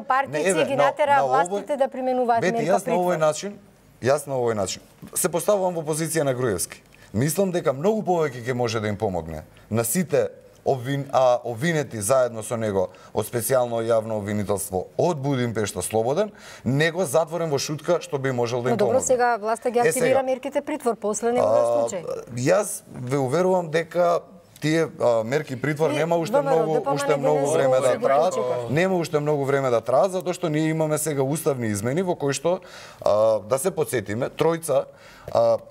ги натера властите да применуваат мерка притвор. Јас на овој начин се поставувам во позиција на Груевски. Мислам дека многу повеќе ќе може да им помогне на сите обвинети заедно со него од специјално јавно обвинителство од Будимпешта слободен, него затворен во шутка што би можел да им помогне. Но добро, сега власта ги активира мерките притвор, после нема случај. Јас ве уверувам дека тие мерки притвор нема уште многу време да траат. Нема уште многу време да траат, затоа што ние имаме сега уставни измени во кои што да се потсетиме, тројца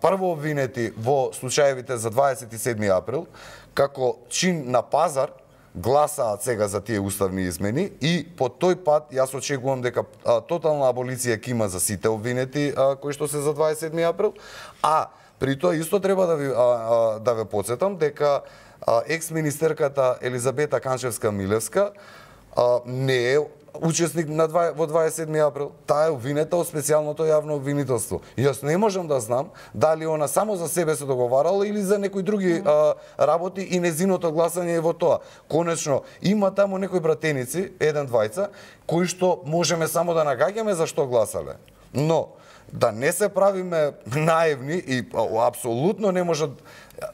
прво обвинети во случаевите за 27 април како чин на пазар гласаат сега за тие уставни измени и по тој пат јас очекувам дека тотална аболиција ќе има за сите обвинети кои што се за 27 април, а при тоа исто треба да ве потсетам дека екс-министерката Елизабета Канчевска-Милевска не е учесник во 27 април. Таа е обвинета од специјалното јавно обвинителство. Јас не можам да знам дали она само за себе се договарала или за некои други работи и незиното гласање е во тоа. Конечно, има таму некои братеници, еден-двајца, кои што можеме само да нагаѓаме за што гласале. Но да не се правиме наивни и апсолутно не можат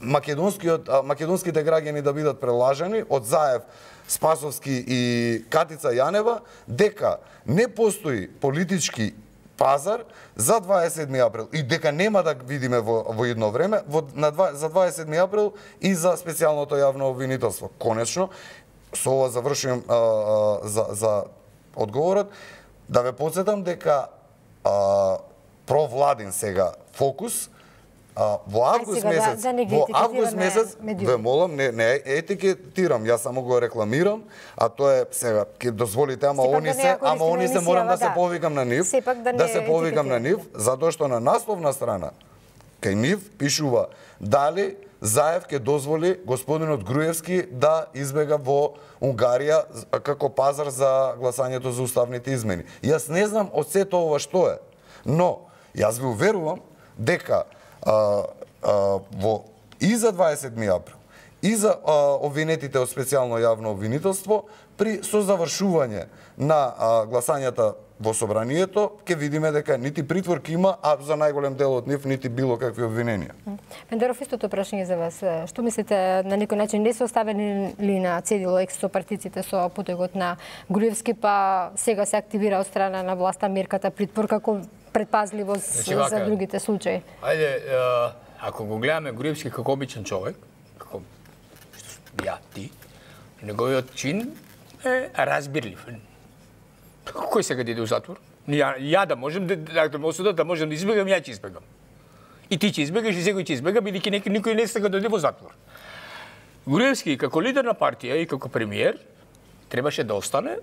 македонските граѓани да бидат прелажани од Заев, Спасовски и Катица Јанева, дека не постои политички пазар за 27 април и дека нема да видиме во едно време за 27 април и за специјалното јавно обвинителство. Конечно, со ова завршувам за одговорот, да ве потсетам дека провладин сега фокус во август месец, ве молам, не етикетирам, јас само го рекламирам, а тоа е сега ќе дозволите, ама они се морам да се повикам на нив, затоа што на насловна страна кај нив пишува дали Заев ќе дозволи господинот Груевски да избега во Унгарија како пазар за гласањето за уставните измени. Јас не знам од сето ова што е, но јас ви уверувам дека и за 27 април, и за обвинетите од специјално јавно обвинителство, при созавршување на гласањата во собранието, ќе видиме дека нити притвор ќе има, а за најголем дел од нив нити било какви обвиненија. Пендеров, истото прашање за вас. Што мислите, на некој начин не се оставени ли на цедило со партиците со потегот на Груевски, па сега се активира од страна на власта мерката притвор како предпазливост за другите случаи? Ајде, ако го гледаме Груевски како обичен човек, како ја, ти, неговиот чин е разбирлив. Кој сега да иде у затвор? Ја да можем да осудат, да можем да избегам, ја ќе избегам. И ти ќе избегаш, и секој ќе избега, бидејќи никој не сега да иде во затвор. Груевски како лидер на партија и како премиер требаше да остане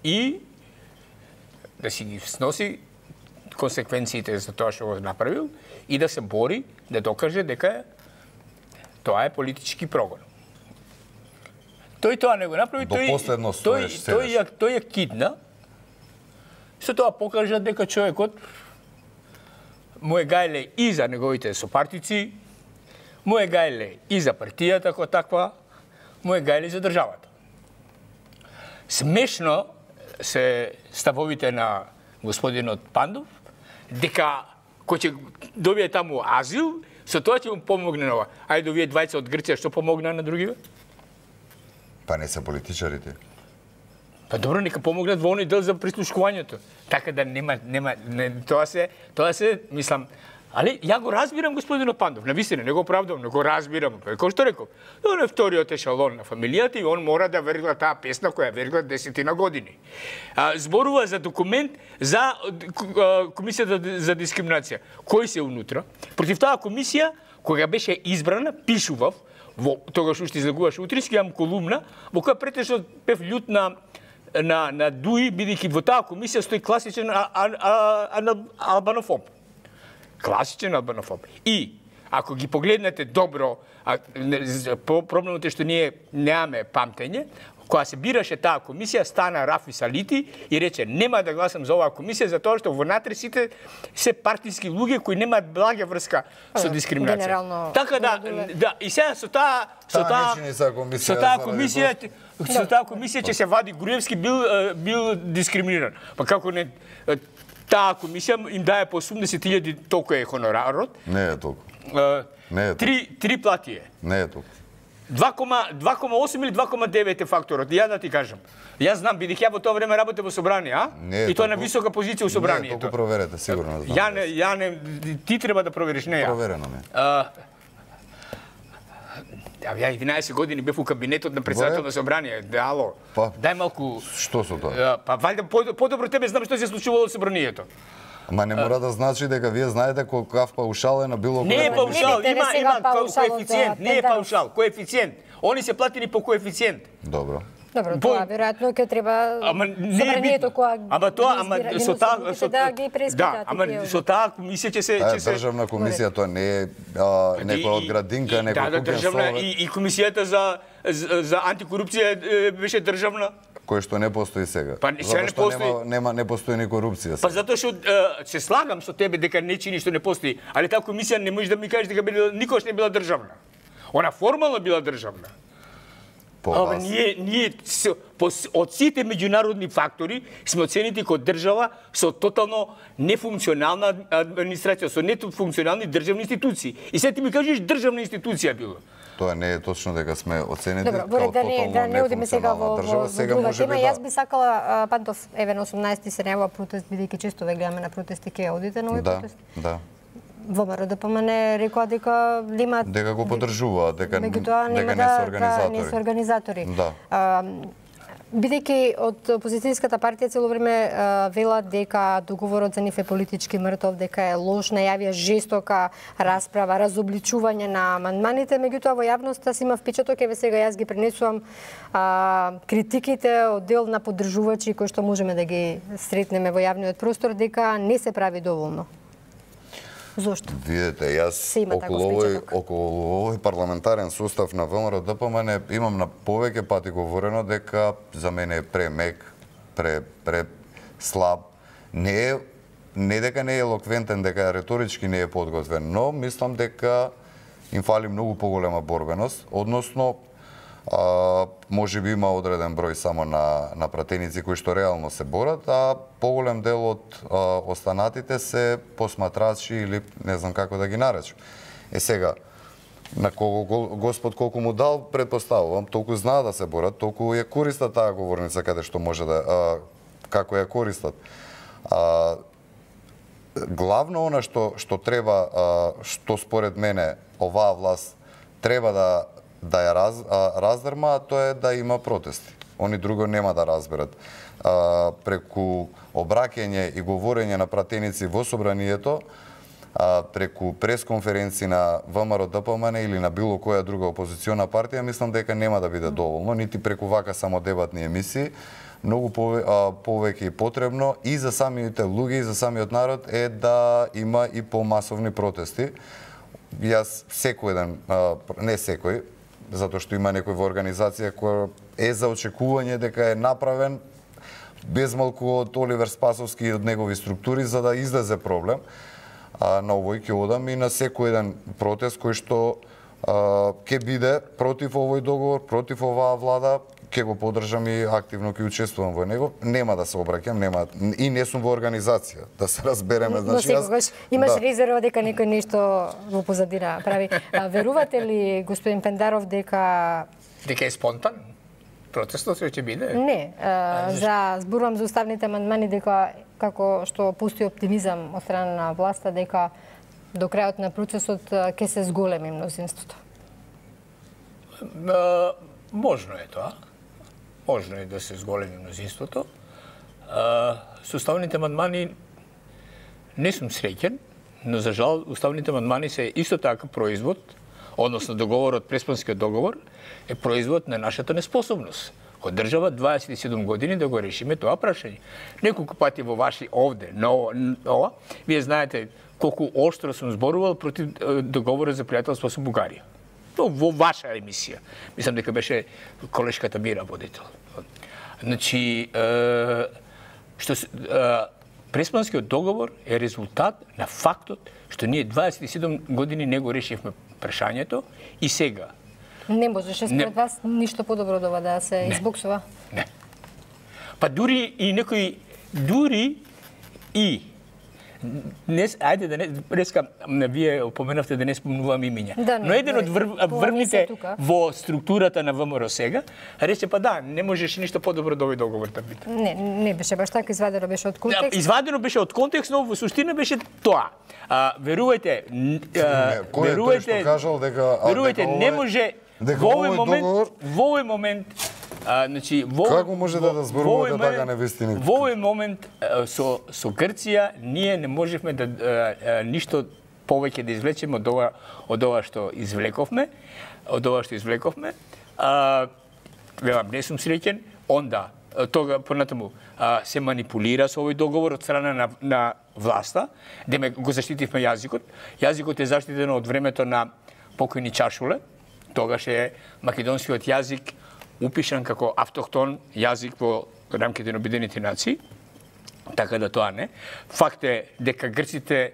и да си ги сноси консеквенциите за тоа што го направил и да се бори да докаже дека тоа е политички прогон. Тој тоа не го направи, тој ја кидна. Со тоа покажа дека човекот му е гајле и за неговите сопартици, му е гајле и за партијата како таква, му е гајле за државата. Смешно се ставовите на господинот Пандов, дека кој ќе добие таму азил, со тоа ќе му помогне на ова. Ајде, овие двајца од Грција што помогна на другиве? Па не се политичарите. Па добро, нека помогнат во оној дел за прислушкувањето. Така да тоа се, мислам, али ја го разбирам господинот Пандов, навистина, не го оправдувам, не го разбирам. Кој што реков? Он е вториот ешалон на фамилијата и он мора да вергла таа песна која вергла 10 години. Зборува за документ за Комисијата за дискриминација. Кој се унутра? Против таа комисија, кога беше избрана, пишував, тогаш уште излегуваше утрински, јам колумна, во која претежно бев љут на Дуи, бидејќи во таа комисија стои класичен албанофоб. Класичен албанофоб. И, ако ги погледнете добро, проблемот е што ние немаме памтење, кога се бираше таа комисија, стана Рафи Салити и рече нема да гласам за оваа комисија затоа што внатре сите се партиски луѓе кои немаат блага врска со дискриминација. Така да, и сега со таа комисија ќе се вади Груевски бил дискриминиран. Па како не таа комисија им дае по 80.000 толку е хонорарот. Не е толку. Три плати е. Не е толку. 2,8 или 2,9 е факторот. Ја да ти кажам. Јас знам, бидејќи ја во тоа време работев во собрание, и тоа на висока позиција во собранието. Не, толку проверете, сигурно знам. Ти треба да провериш, не ја. Проверено ми. Ја 11 години бев у кабинетот на председател на собрание. Ало. Дај малку. Што со тоа? Па валјда подобро тебе знам што се случувало во собранието. Ама не мора да значи дека вие знаете колкав паушал е на било кој. Не е паушал, има коефициент, не е паушал, коефициент. Они се платени по коефициент. Добро. Добро, тоа веројатно ќе треба собранието кога со таа комисија ќе се државна комисија, тоа не е некоја од градинка, некој државна и комисијата за антикорупција беше државна. Кој што не постои сега. Па сега не постои. Не постои ни корупција. Па затоа што се слагам со тебе дека нечи ништо не постои, али таа комисија не може да ми кажеш дека никош не била државна. Она формално била државна. Ние од сите меѓународни фактори сме оценети како држава со тотално нефункционална администрација, со нефункционални државни институции. И сега ти ми кажеш државна институција била. Тоа не е точно дека сме оценети како тотално нефункционална држава. Сега може би јас би сакала Пантов, еве на 18 се најава протест, бидејќи често ве гледаме на протести, ќе одите на овој протест? Да. ВМРО ДПМН рекоа дека немаат... Дека го поддржуваат, дека не се организатори. Да. Бидејќи од опозицијската партија цело време велат дека договорот за нив е политички мртов, дека е лош, најавија жестока расправа, разобличување на амандманите, меѓутоа во јавноста си има впечаток, еве сега јас ги пренесувам критиките од дел на поддржувачи кои што можеме да ги сретнеме во јавниот простор, дека не се прави доволно. Зошто? Видете, јас околу овој парламентарен сустав на ВМРО ДПМН имам на повеќе пати говорено дека за мене е премек, слаб. Не дека не е елоквентен, дека реторички не е подготвен, но мислам дека им фали многу поголема борбеност, односно Може би има одреден број само на пратеници кои што реално се борат, а поголем дел од останатите се посматрачи или не знам како да ги наречам. Сега, на кого Господ колку му дал, предпоставувам, толку знаат да се борат, толку ја користат таа говорница каде што може да како ја користат. Главно она што треба, што според мене оваа власт треба да ја раздрма, тоа е да има протести. Они друго нема да разберат. Преку обраќање и говорење на пратеници во собранието, преку пресконференции на ВМРО ДПМН или на било која друга опозициона партија, мислам дека нема да биде доволно, нити преку вака само дебатни емисии. Многу повеќе и потребно и за самите луѓе и за самиот народ е да има и помасовни протести. Јас секој ден, не секој, затоа што има некој во организација која е за очекување дека е направен без малку од Оливер Спасовски и од негови структури за да излезе проблем. На овој ќе одам и на секој еден протест кој што ќе биде против овој договор, против оваа влада, ќе го поддржам и активно ќе учествувам во него. Нема да се обраќам, нема и не сум во организација, да се разбереме. Значи секогаш имаш резерва дека некој нешто во позадина прави. Верувате ли, господин Пендаров, дека е спонтан? Протестот ќе биде? Не, зборувам за уставните амандмани дека како што пусти оптимизам од страна на власта дека до крајот на процесот ќе се зголеми мнозинството. Можно е тоа. Можно е да се зголеми мнозинството. Со уставните амандмани не сум среќен, но за жал уставните амандмани се исто така производ, односно договорот, Преспанскиот договор, е производ на нашата неспособност од држава 27 години да го решиме тоа прашање. Неколку пати во ваши овде, ова, вие знаете колку оштро сум зборувал против договорот за пријателство со Бугарија. Во ваша емисија. Мислам дека беше колешката Мира водител. Значи, Преспанскиот договор е резултат на фактот што ние 27 години не го решивме прашањето и сега. Не можеше според вас ништо подобро да ова да се избоксува? Не. Па дури и некои, дури и ајде да не, реска, вие опоменавте да не спомнувам имиња. Да, но еден од врвните во структурата на ВМРО сега рече па да, не можеше ништо подобро да овој договор да биде. Не беше баш така, извадено беше од контекст. Извадено беше од контекст, но во суштина беше тоа. Верувајте, не може во овој момент значи, како може да зборувате така невистини? Во овој момент со Грција ние не можевме да ништо повеќе да извлечеме од ова што извлековме, не сум среќен, онда тога понатаму се манипулира со овој договор од страна на власта, деме го заштитивме јазикот. Јазикот е заштитен од времето на покојни Чашуле, тогаш е македонскиот јазик упишан како автохтон јазик во рамките на Обединените нации, така да тоа не. Факт е дека грците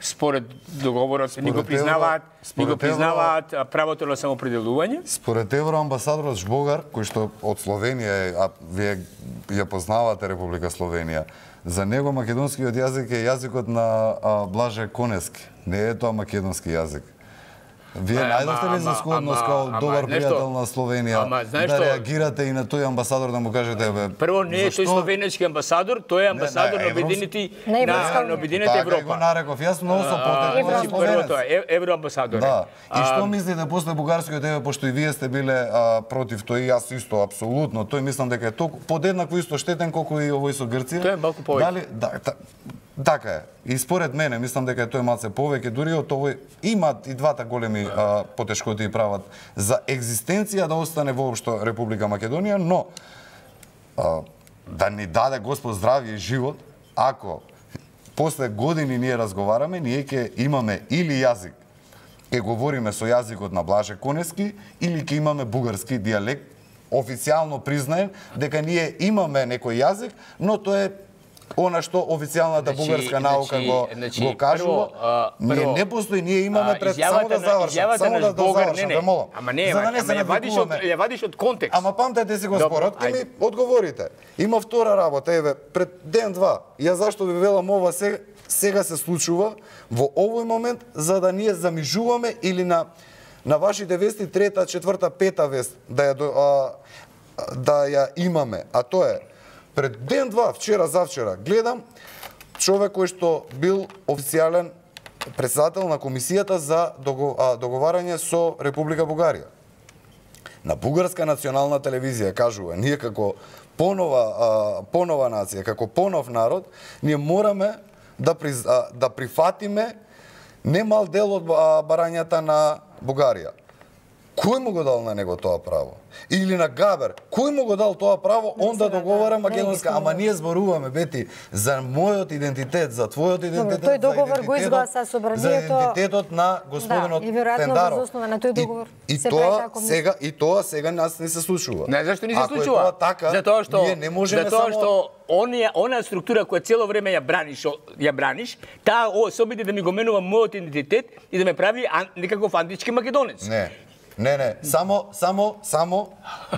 според договорот ни го признаваат правото на самоопределување. Според евроамбасадорот Жбогар, кој што од Словенија, а вие ја познавате Република Словенија, за него македонскиот јазик е јазикот на Блаже Конески. Не е тоа македонски јазик. Вие најдовте ли за складност као добар пријател на Словенија да реагирате и на тој амбасадор да му кажете прво не е тој словенечки амбасадор, тој е амбасадор на Обединените Европа. Така го нареков, јас многу со потекот прво тоа евроамбасадор. Да. И што мислите после бугарскиот пошто и вие сте биле против тој, јас исто апсолутно, тој мислам дека е толку подеднакво исто штетен колку и овој со Грција. Тој е малку повеќе. Така е. И според мене, мислам дека тој малце повеќе, дури од овој имаат и двата големи потешкоти и прават за екзистенција да остане воопшто Република Македонија, но да ни даде Господ здравје и живот, ако после години ние разговараме, ние ќе имаме или јазик, ќе говориме со јазикот на Блаже Конески, или ќе имаме бугарски дијалект, официјално признаен дека ние имаме некој јазик, но тоа е она што официјалната бугарска наука го кажува. Ние не постои, ние имаме пред само да завршам, ве молам. Ама не, за да не се ја вадиш од контекст. Ама памтете си го спорот, ке ми одговорите. Има втора работа, еве, пред ден-два. Ја зашто ви велам ова сега се случува во овој момент, за да ние замижуваме или на вашите вести трета, четврта, пета вест да ја имаме. А тоа е пред ден-два, вчера, завчера, гледам човек кој што бил официјален председател на комисијата за договарање со Република Бугарија. На бугарска национална телевизија кажува, ние како понова нација, како понов народ, ние мораме да прифатиме немал дел од барањата на Бугарија. Кој му го дал на него тоа право? Или на Габер, кој му го дал тоа право, он да договара македонска, ама ние зборуваме, Бети, за мојот идентитет, за твојот идентитет, тој договор го изгласа собранието, за идентитетот на господинот Тендаров. И тоа сега нас не се случува. Не, зашто не се случува? Затоа што она структура која цело време ја браниш, таа се обиде да ми го менува мојот идентитет и да ме прави некаков антички македонец. Не, само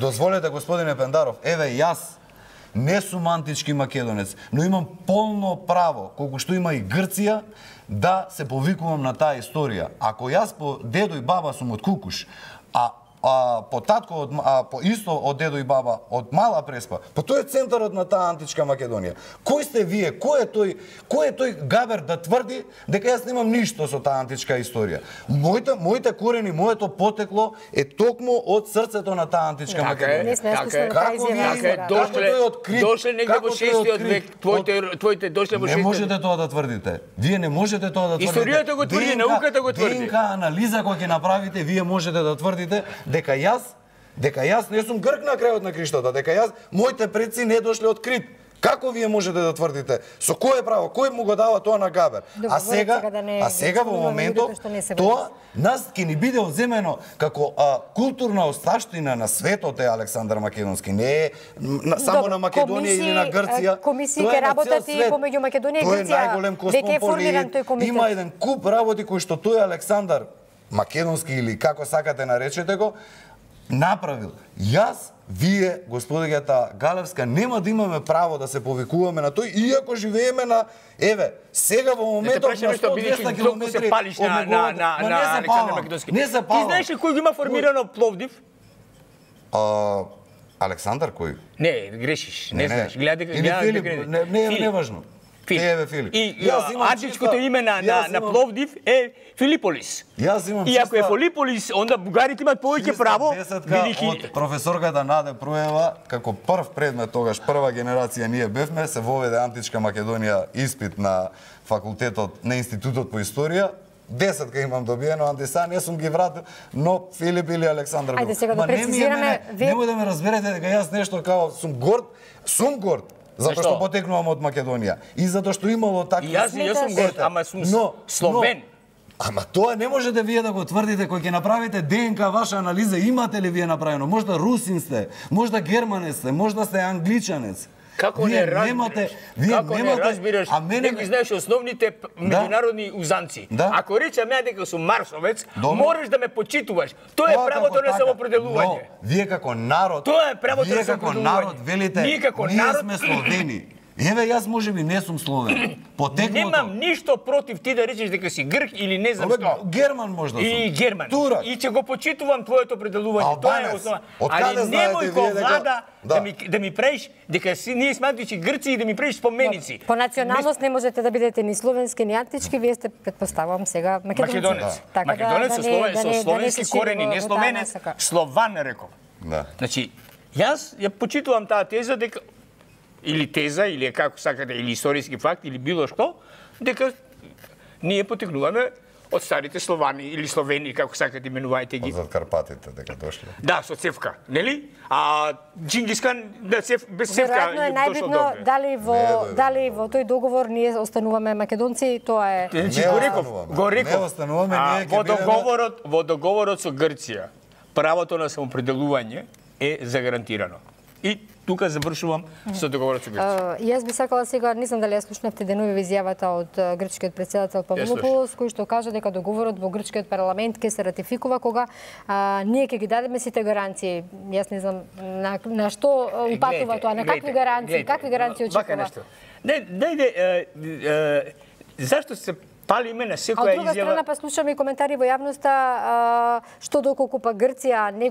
дозволете, господине Пендаров, еве јас не сум антички македонец, но имам полно право, колку што има и Грција, да се повикувам на таа историја. Ако јас по дедо и баба сум од Кукуш, по татко по исто од дедо и баба од Мала Преспа, по тој е центарот на таа античка Македонија. Кој сте вие? Кој е тој Габер да тврди дека јас немам ништо со таа античка историја? Моите корени, моето потекло е токму од срцето на таа античка Македонија. Дошле негде во 6-тиот век, твоите дошле во 6-тиот век. Не можете тоа да тврдите. Вие не можете тоа да тврдите. Историјата го тврди, науката го тврди. ДНК анализа која ќе направите, вие можете да тврдите дека јас не сум грк на крајот на криштото, дека моите предци не дошле од Крит. Како вие можете да тврдите? Со кое право? Кој му го дава тоа на Габер? А сега во моментот тоа нас ќе ни биде одземено како културна осташтина на светот е Александар Македонски. Не е само на Македонија или на Грција. Комисии ќе работат и помеѓу Македонија и Грција. Тој е најголем космополит. Има еден куп работи кои што тој Александар Македонски или како сакате наречете го, направил. Јас, вие, господињата Галевска, нема да имаме право да се повикуваме на тој, иако живееме на, еве, сега во моментот на 100-200 километри се палиш на Александар Македонски. Не се палам. Ти знаеш ли кој има формирано Пловдив? Александар кој? Не, грешиш. Не знаеш. Гледај Филип, не е важно. Филип. И античкото име на Пловдив е Филиполис. И ако е Филиполис, онда бугарите имат повеќе право, бидејќи од професорката Наде Проева, како прв предмет тогаш, прва генерација ние бевме, се воведе античка Македонија испит на факултетот на Институтот по историја. 10 имам добиено, антиса не сум ги вратил, но Филип или Александар. Ајде сега да прецизираме. Немој да ме разберете дека јас нешто као сум горд. Затоа што потекнувам од Македонија. И затоа што имало такви... Јас сум горд, ама сум словен. Ама тоа не можете вие да го тврдите, кој ќе направите ДНК ваша анализа, имате ли вие направено? Можда русин сте, можда германец сте, можда сте англичанец. Како не разбираш? Како не разбираш? Не ги знаеш основните меѓународни узанци. Ако речам ја дека сум марсовец, мораш да ме почитуваш. Тоа е правото на самопределување. Вие како народ, тоа е правото на самопределување. Велите, ние сме словени. Еве, јас можеби не сум словен. Потеклото... Немам ништо против ти да речеш дека си грк или не знам што. Герман може да сум. И герман. Турак. И ќе го почитувам твоето определување. Тоа е основа. Али немој ко влада да ми правиш дека ние сме антички Грци и да ми правиш споменици. По националност не можете да бидете ни словенски ни антички, вие сте, предпоставувам сега, македонец. Македонец со словенски корени, не словенец, слован реков. Значи, јас ја почитувам таа теза дека или теза, или како сакате, или историски факт, или било што, дека ние потекнуваме од старите Словани или Словени, како сакате именувајте ги. Од Карпатите дека дошле. Да, со цевка, нели? А Џингискан без цевка веројатно е најбитно дали во тој договор ние остануваме македонци, тоа е. Го реков. Не остануваме, ние ќе во договорот со Грција правото на самопределување е загарантирано. И тука завршувам со договорот со Грција. Јас би сакала сега, не знам дали ја слушнавте денови изјавата од грчкиот претседател Павлопулос, кој што кажа дека договорот во грчкиот парламент ќе се ратификува кога ние ќе ги дадеме сите гаранции. Јас не знам на што упатува тоа, на какви гаранции очекува. Зашто се палиме на секоја изјава? А од друга страна па слушаме и коментари во јавноста што доколку па Грција не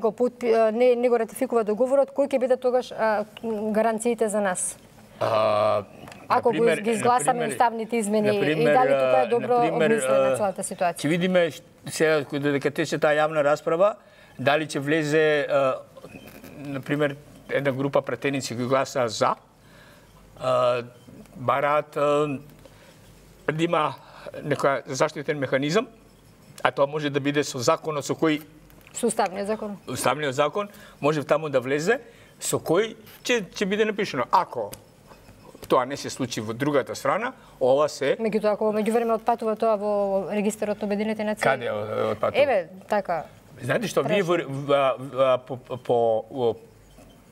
го ратификува договорот, кои ќе бидат тогаш гаранциите за нас? Ако ги изгласаме уставните измени и дали тука е добро обмислена целата ситуација? Ќе видиме сега додека тече таа јавна расправа, дали ќе влезе например една група пратеници кои гласаа за, бараат да има некој заштитен механизам, а тоа може да биде со законот со кој со уставниот закон. Уставниот закон може таму да влезе со кој ќе биде напишано. Ако тоа не се случи во другата страна, ова се Меѓутоа ако меѓувреме отпатува тоа во регистарот на Обединетите нации. Каде отпатува? Еве, така. Знаете што, вие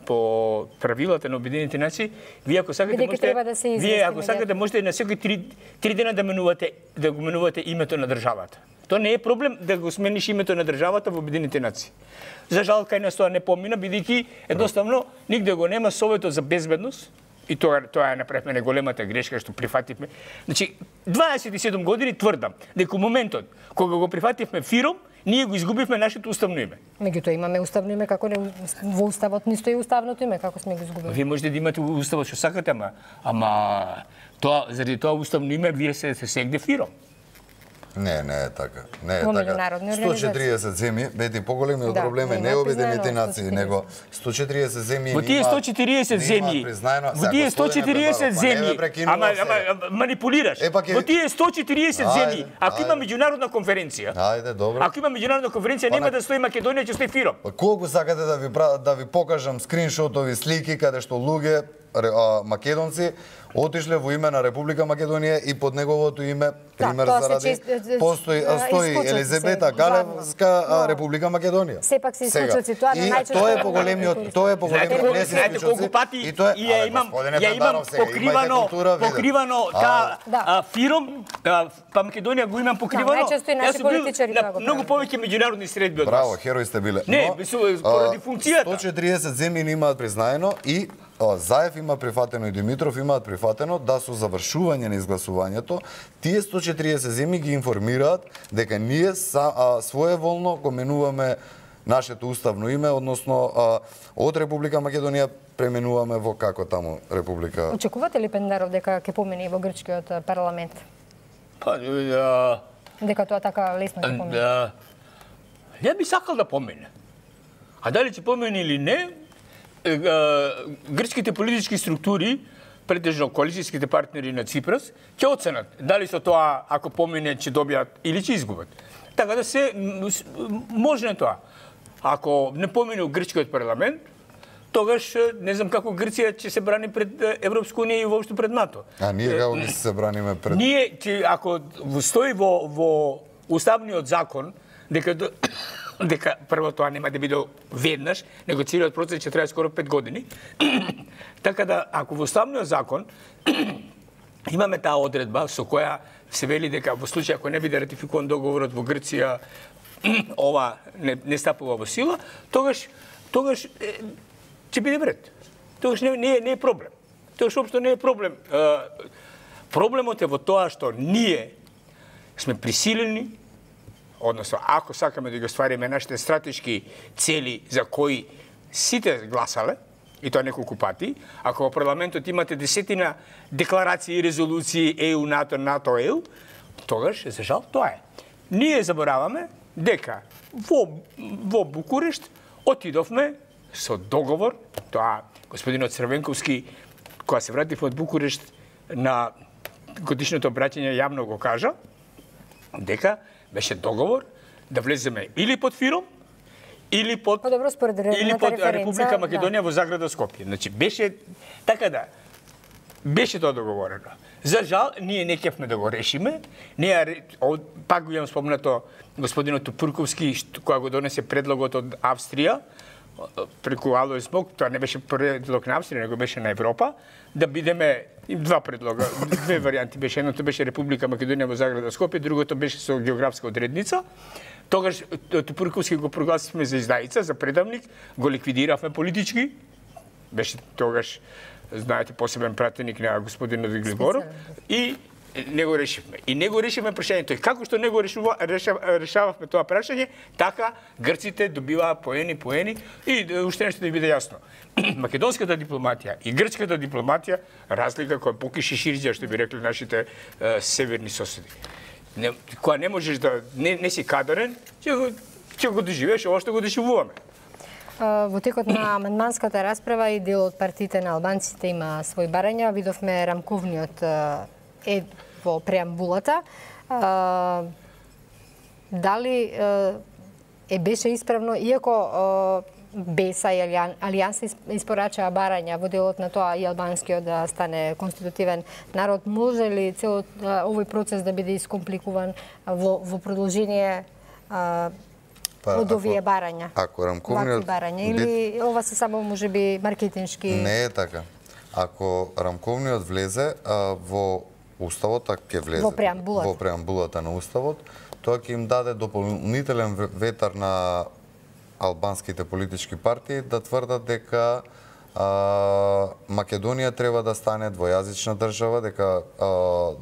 по правилата на Обединетите нации, вие ако сакате можете на секои 3 дена да го менувате името на државата. Тоа не е проблем да го смениш името на државата во Обединетите нации. За жал кај нас тоа не помина, бидејќи едноставно нигде го нема Советот за безбедност. И тоа е направивме големата грешка што прифативме. Значи 27 години тврдам дека во моментот кога го прифативме ФИРОМ, ние го изгубивме нашето уставно име. Меѓутоа имаме уставно име, како не во уставот не стои уставното име, како сме го изгубили. Вие можете да имате уставот што сакате, ама тоа заради тоа уставно име вие се сегде ФИРОМ. Не е така. Не е така. 140 земји, бети поголемиот проблем е не Обединетите нации, него 140 земји. Во тие 140 земји. Во тие 140 земји. Ама манипулираш. Во тие 140 земји, ако има меѓународна конференција. Ајде, добро. Ако има меѓународна конференција, нема да стои Македонија, ќе стои ФИРОМ. Колку сакате да ви покажам скриншотови слики каде што луѓе македонци отишле во име на Република Македонија и под неговото име, пример заради, стои Елизабета Галевска Република Македонија. Сепак се исклучоци, тоа на најчесто. Тоа е поголемиот, знаете колку пати ја имам покривано таа ФИРОМ, па Македонија го имам покривано. Најчесто и наши политичари тоа го прават. Многу повеќе меѓународни средби од вас. Браво, херои сте биле. Не, поради функцијата. 140 земји не имаат признаено и Заев има прифатено и Димитров имаат прифатено да со завршување на изгласувањето тие 140 земји ги информираат дека ние своеволно го менуваме нашето уставно име, односно од Република Македонија пременуваме во како таму Република. Очекувате ли Пендаров дека ќе помине во грчкиот парламент? Па дека тоа така лесно ќе помине? Ја би сакал да помине. А дали ќе помине или не? Грчките политички структури, претежно коалицијските партнери на Ципрас, ќе оценат дали со тоа, ако помине, ќе добијат или ќе изгубат. Така да се може тоа. Ако не помине у грчкиот парламент, тогаш не знам како Грција ќе се брани пред Европска унија и воопшто пред НАТО. А ние како ќе се браниме пред? Ние ако стои во уставниот закон дека прво тоа нема да биде веднаш, него целиот процес ќе трае скоро 5 години. Така да, ако во уставниот закон имаме таа одредба со која се вели дека во случај ако не биде ратификуван договорот во Грција, ова не стапува во сила, тогаш ќе биде вред. Тогаш не е проблем. Тогаш општо не е проблем. Проблемот е во тоа што ние сме присилени, односно, ако сакаме да ги оствариме нашите стратешки цели за кои сите гласале, и тоа неколку пати, ако во парламентот имате десетина декларации и резолуции ЕУ, НАТО, НАТО, ЕУ, тогаш, за жал, тоа е. Ние забораваме дека во Букурешт отидовме со договор, тоа господинот Црвенковски, кога се вратив од Букурешт на годишното обраќање јавно го кажа, дека беше договор да влеземе или под ФИРОМ, или под Република Македонија во заграда Скопје. Значи беше така да беше тоа договорено. За жал ние не кефме да го решиме. Ние пак го имам спомнато господинот Тупурковски кога го донесе предлогот од Австрија, преку Алој Смок, тоа не беше предлог на Австрија, него беше на Европа, да бидеме два предлога, две варијанти беше. Едното беше Република Македонија во заграда Скопје, другото беше со географска одредница. Тогаш Тупурковски го прогласивме за издаица, за предавник, го ликвидиравме политички. Беше тогаш, знаете, посебен пратеник на господинот Глиборов и не го решивме. И не го решивме прашањето. И како што не го решававме тоа прашање, така грците добиваа поени и уште нешто да ви биде јасно. Македонската дипломатија и грчката дипломатија разлика која покиши ширџа, што би рекли нашите северни соседи. Кога не можеш да не си кадарен, ќе го доживееш ова што го доживуваме. Во текот на амандманската расправа и дел од партиите на албанците има свои барања. Видовме рамковниот во преамбулата. Дали беше исправно, иако БЕСА и Алијанса испорачаа барања во делот на тоа и албанскиот да стане конститутивен народ, може ли целот овој процес да биде искомпликуван во продолжение од овие барања? Ако рамковниот барања или ова се само можеби маркетиншки? Не е така. Ако рамковниот влезе во Уставот, ќе влезе во преамбулата на Уставот, тоа ќе им даде дополнителен ветар на албанските политички партии да тврдат дека Македонија треба да стане двојазична држава, дека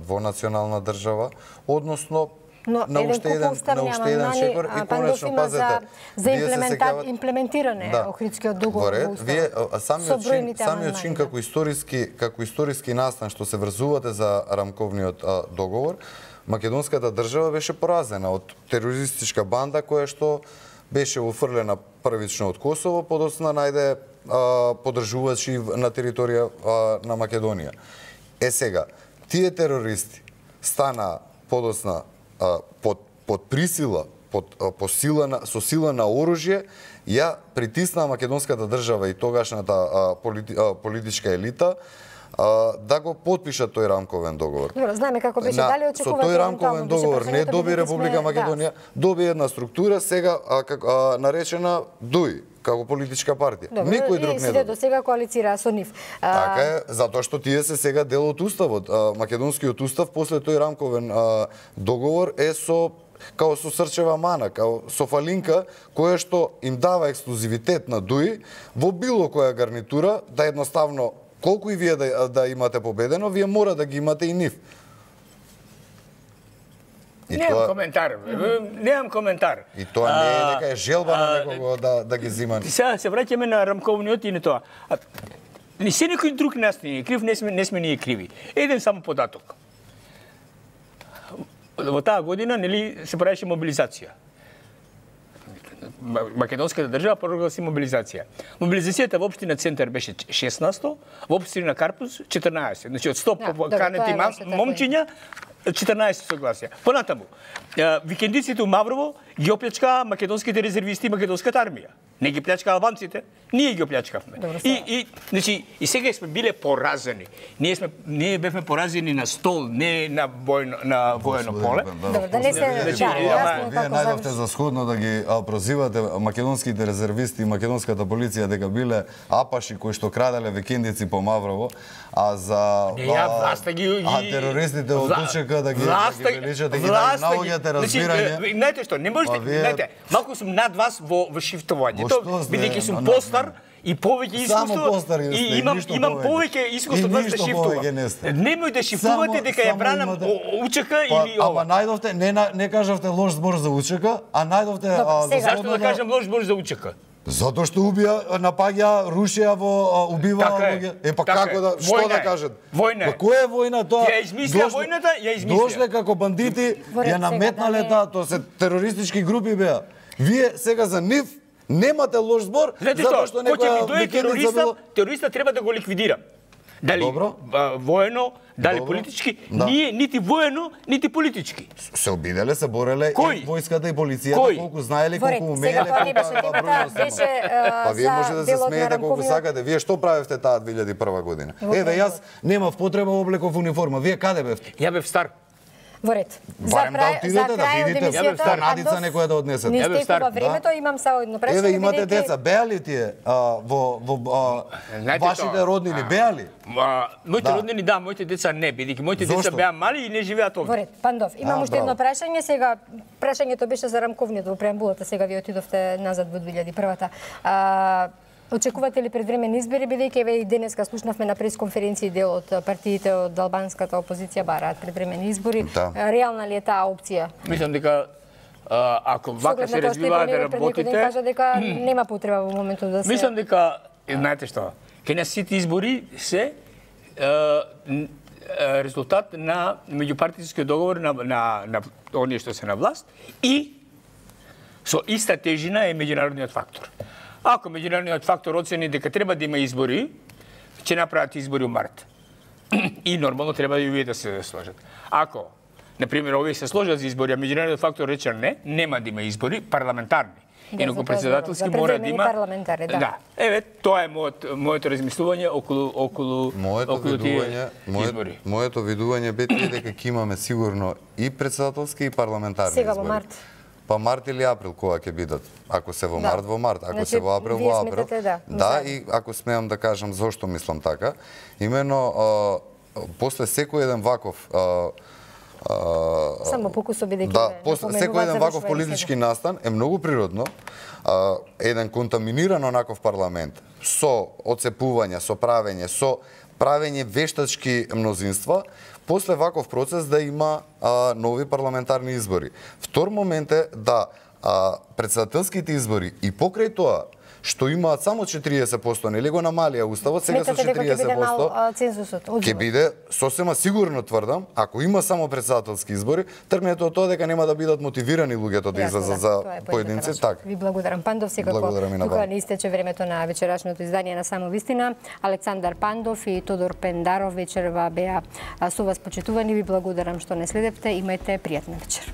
двонационална држава, односно на уште еден шекор и конечно пазете за имплементиране Охридскиот договор во Уставот. Самиот чин како историски настан што се врзувате за рамковниот договор, македонската држава беше поразена од терористичка банда која што беше офрлена првично од Косово, подоцна најде подржувачи на територија на Македонија. Сега, тие терористи стана подоцна под присила, со сила на оружје, ја притисна македонската држава и тогашната политичка елита да го потпишат тој рамковен договор. Добро, знаеме како беше, дали очекувате? Со тој рамковен договор не доби Република Македонија, доби една структура сега наречена ДУИ, како политичка партија. Никој друг не доби. И сите до сега коалицираа со нив. Така е, затоа што тие се сега дел од Уставот. Македонскиот Устав после тој рамковен договор е као со срчева мана, као со фалинка, која што им дава ексклузивитет на ДУИ во било која гарнитура, да едноставно, колку и вие да имате победено, вие мора да ги имате и нив. Немам коментар. И тоа не е дека е желба на некого да ги зима. Сега се враќаме на рамковниот и на тоа. Не се некој друг нас не е крив, не сме ние криви. Еден само податок. Во таа година се правеше мобилизација. Македонската држава прогласи мобилизација. Мобилизацијата во општина Центар беше 16%, во општина Карпус 14%. Значи од 100 канети момчиња 14 согласија. Понатаму, викендиците у Маврово ги оплячкаа македонските резервисти и македонската армија. Не ги плячка албанците, ние ги оплячкавме. И сега сме биле поразени. Ние бевме поразени на стол, не на воено поле. Вие најдовте за сходно да ги прозивате македонските резервисти и македонската полиција дека биле апаши кои што краделе викендици по Маврово, а за терористите од УЧК да ги величат и ги наоѓате разбирање. Знаете што, не можете, знаете, малку сум над вас во шифтување. Бидејќи сум постар и повеќе искуство и имам повеќе искуство од вас да шифтувам. Немој да шифтувате дека ја бранам УЧК или ова. Ама најдовте, не кажавте лош збор за УЧК, а најдовте... Зашто да кажам лош збор за УЧК? Затоа што напаѓа, рушија убива луѓе. Па како да, што да кажат? Војна е. Која е војна тоа? Ја измисля војната, ја измисля. Дошле како бандити, ја наметнале таа, тоа се терористички групи беа. Вие сега за нив немате лош збор, затоа што некоја терориста треба да го ликвидира. Дали воено, дали политички, ние нити воено, нити политички. Се обиделе, се бореле и војската и полицијата, колку знаеле, колку умееле. Па вие може да се смеете колку сакате. Вие што правевте таа 2001 година? Еве, јас немав потреба облеков униформа. Вие каде бевте? Ја бев стар. Во ред. Барем да отидете да видите, емисијата, Надица некоја да однесете. Не истекува времето, имам само едно прашање. Еве имате деца, беа ли тие во вашите роднини, беа ли? Моите роднини да, моите деца не, бидејќи моите деца беа мали и не живеат овде. Во ред, Пандов, имам уште едно прашање, сега прашањето беше за рамковниот во преамбулата, сега ви отидовте назад во 2001-та. Очекувате ли предвремени избори, бидејќи еве и денеска слушнавме на пресконференција дел од партиите од албанската опозиција бараат предвремени избори. Да. Реална ли е таа опција? Мислам дека ако вака се развиваат да работите, кажа дека нема потреба во моментот да се. Мислам дека знаете што, кај нас сите избори се резултат на меѓупартијскиот договор на оние што се на власт и со иста тежина е меѓународниот фактор. Ако меѓународниот фактор оцени дека треба да има избори, ќе направат избори во март. И нормално треба и овие да се сложат. Ако, например, овие се сложат за избори, а меѓународниот фактор рече не, нема да има избори парламентарни. Инаку председателски мора да има парламентарни, да. Еве, тоа е моето размислување околу тие избори. Моето видување бе дека ќе имаме сигурно и председателски и парламентарни избори. Сега во март. Па март или април кога ќе бидат. Ако се во март, во март. Ако се во април, во април. Да, и ако смеам да кажам зошто мислам така, имено после секој еден ваков само покусо бидејќи да, после секој еден ваков политички настан е многу природно еден контаминиран онаков парламент со оцепување, со правење вештачки мнозинства, после ваков процес да има нови парламентарни избори. Втор момент е да председателските избори и покрај тоа што имаат само 40%, нели го намалија уставот, сега со 40%. Сметате дека ќе биде мал цензусот? Ќе биде, сосема сигурно тврдам, ако има само председателски избори, тргнете од тоа дека нема да бидат мотивирани луѓето да излезат за поединци, така. Ви благодарам. Пандов, секако тука не истече времето на вечерашното издание на Само вистина. Александар Пандов и Тодор Пендаров вечерва беа со вас почитувани. Ви благодарам што не следевте. Имајте пријатна вечер.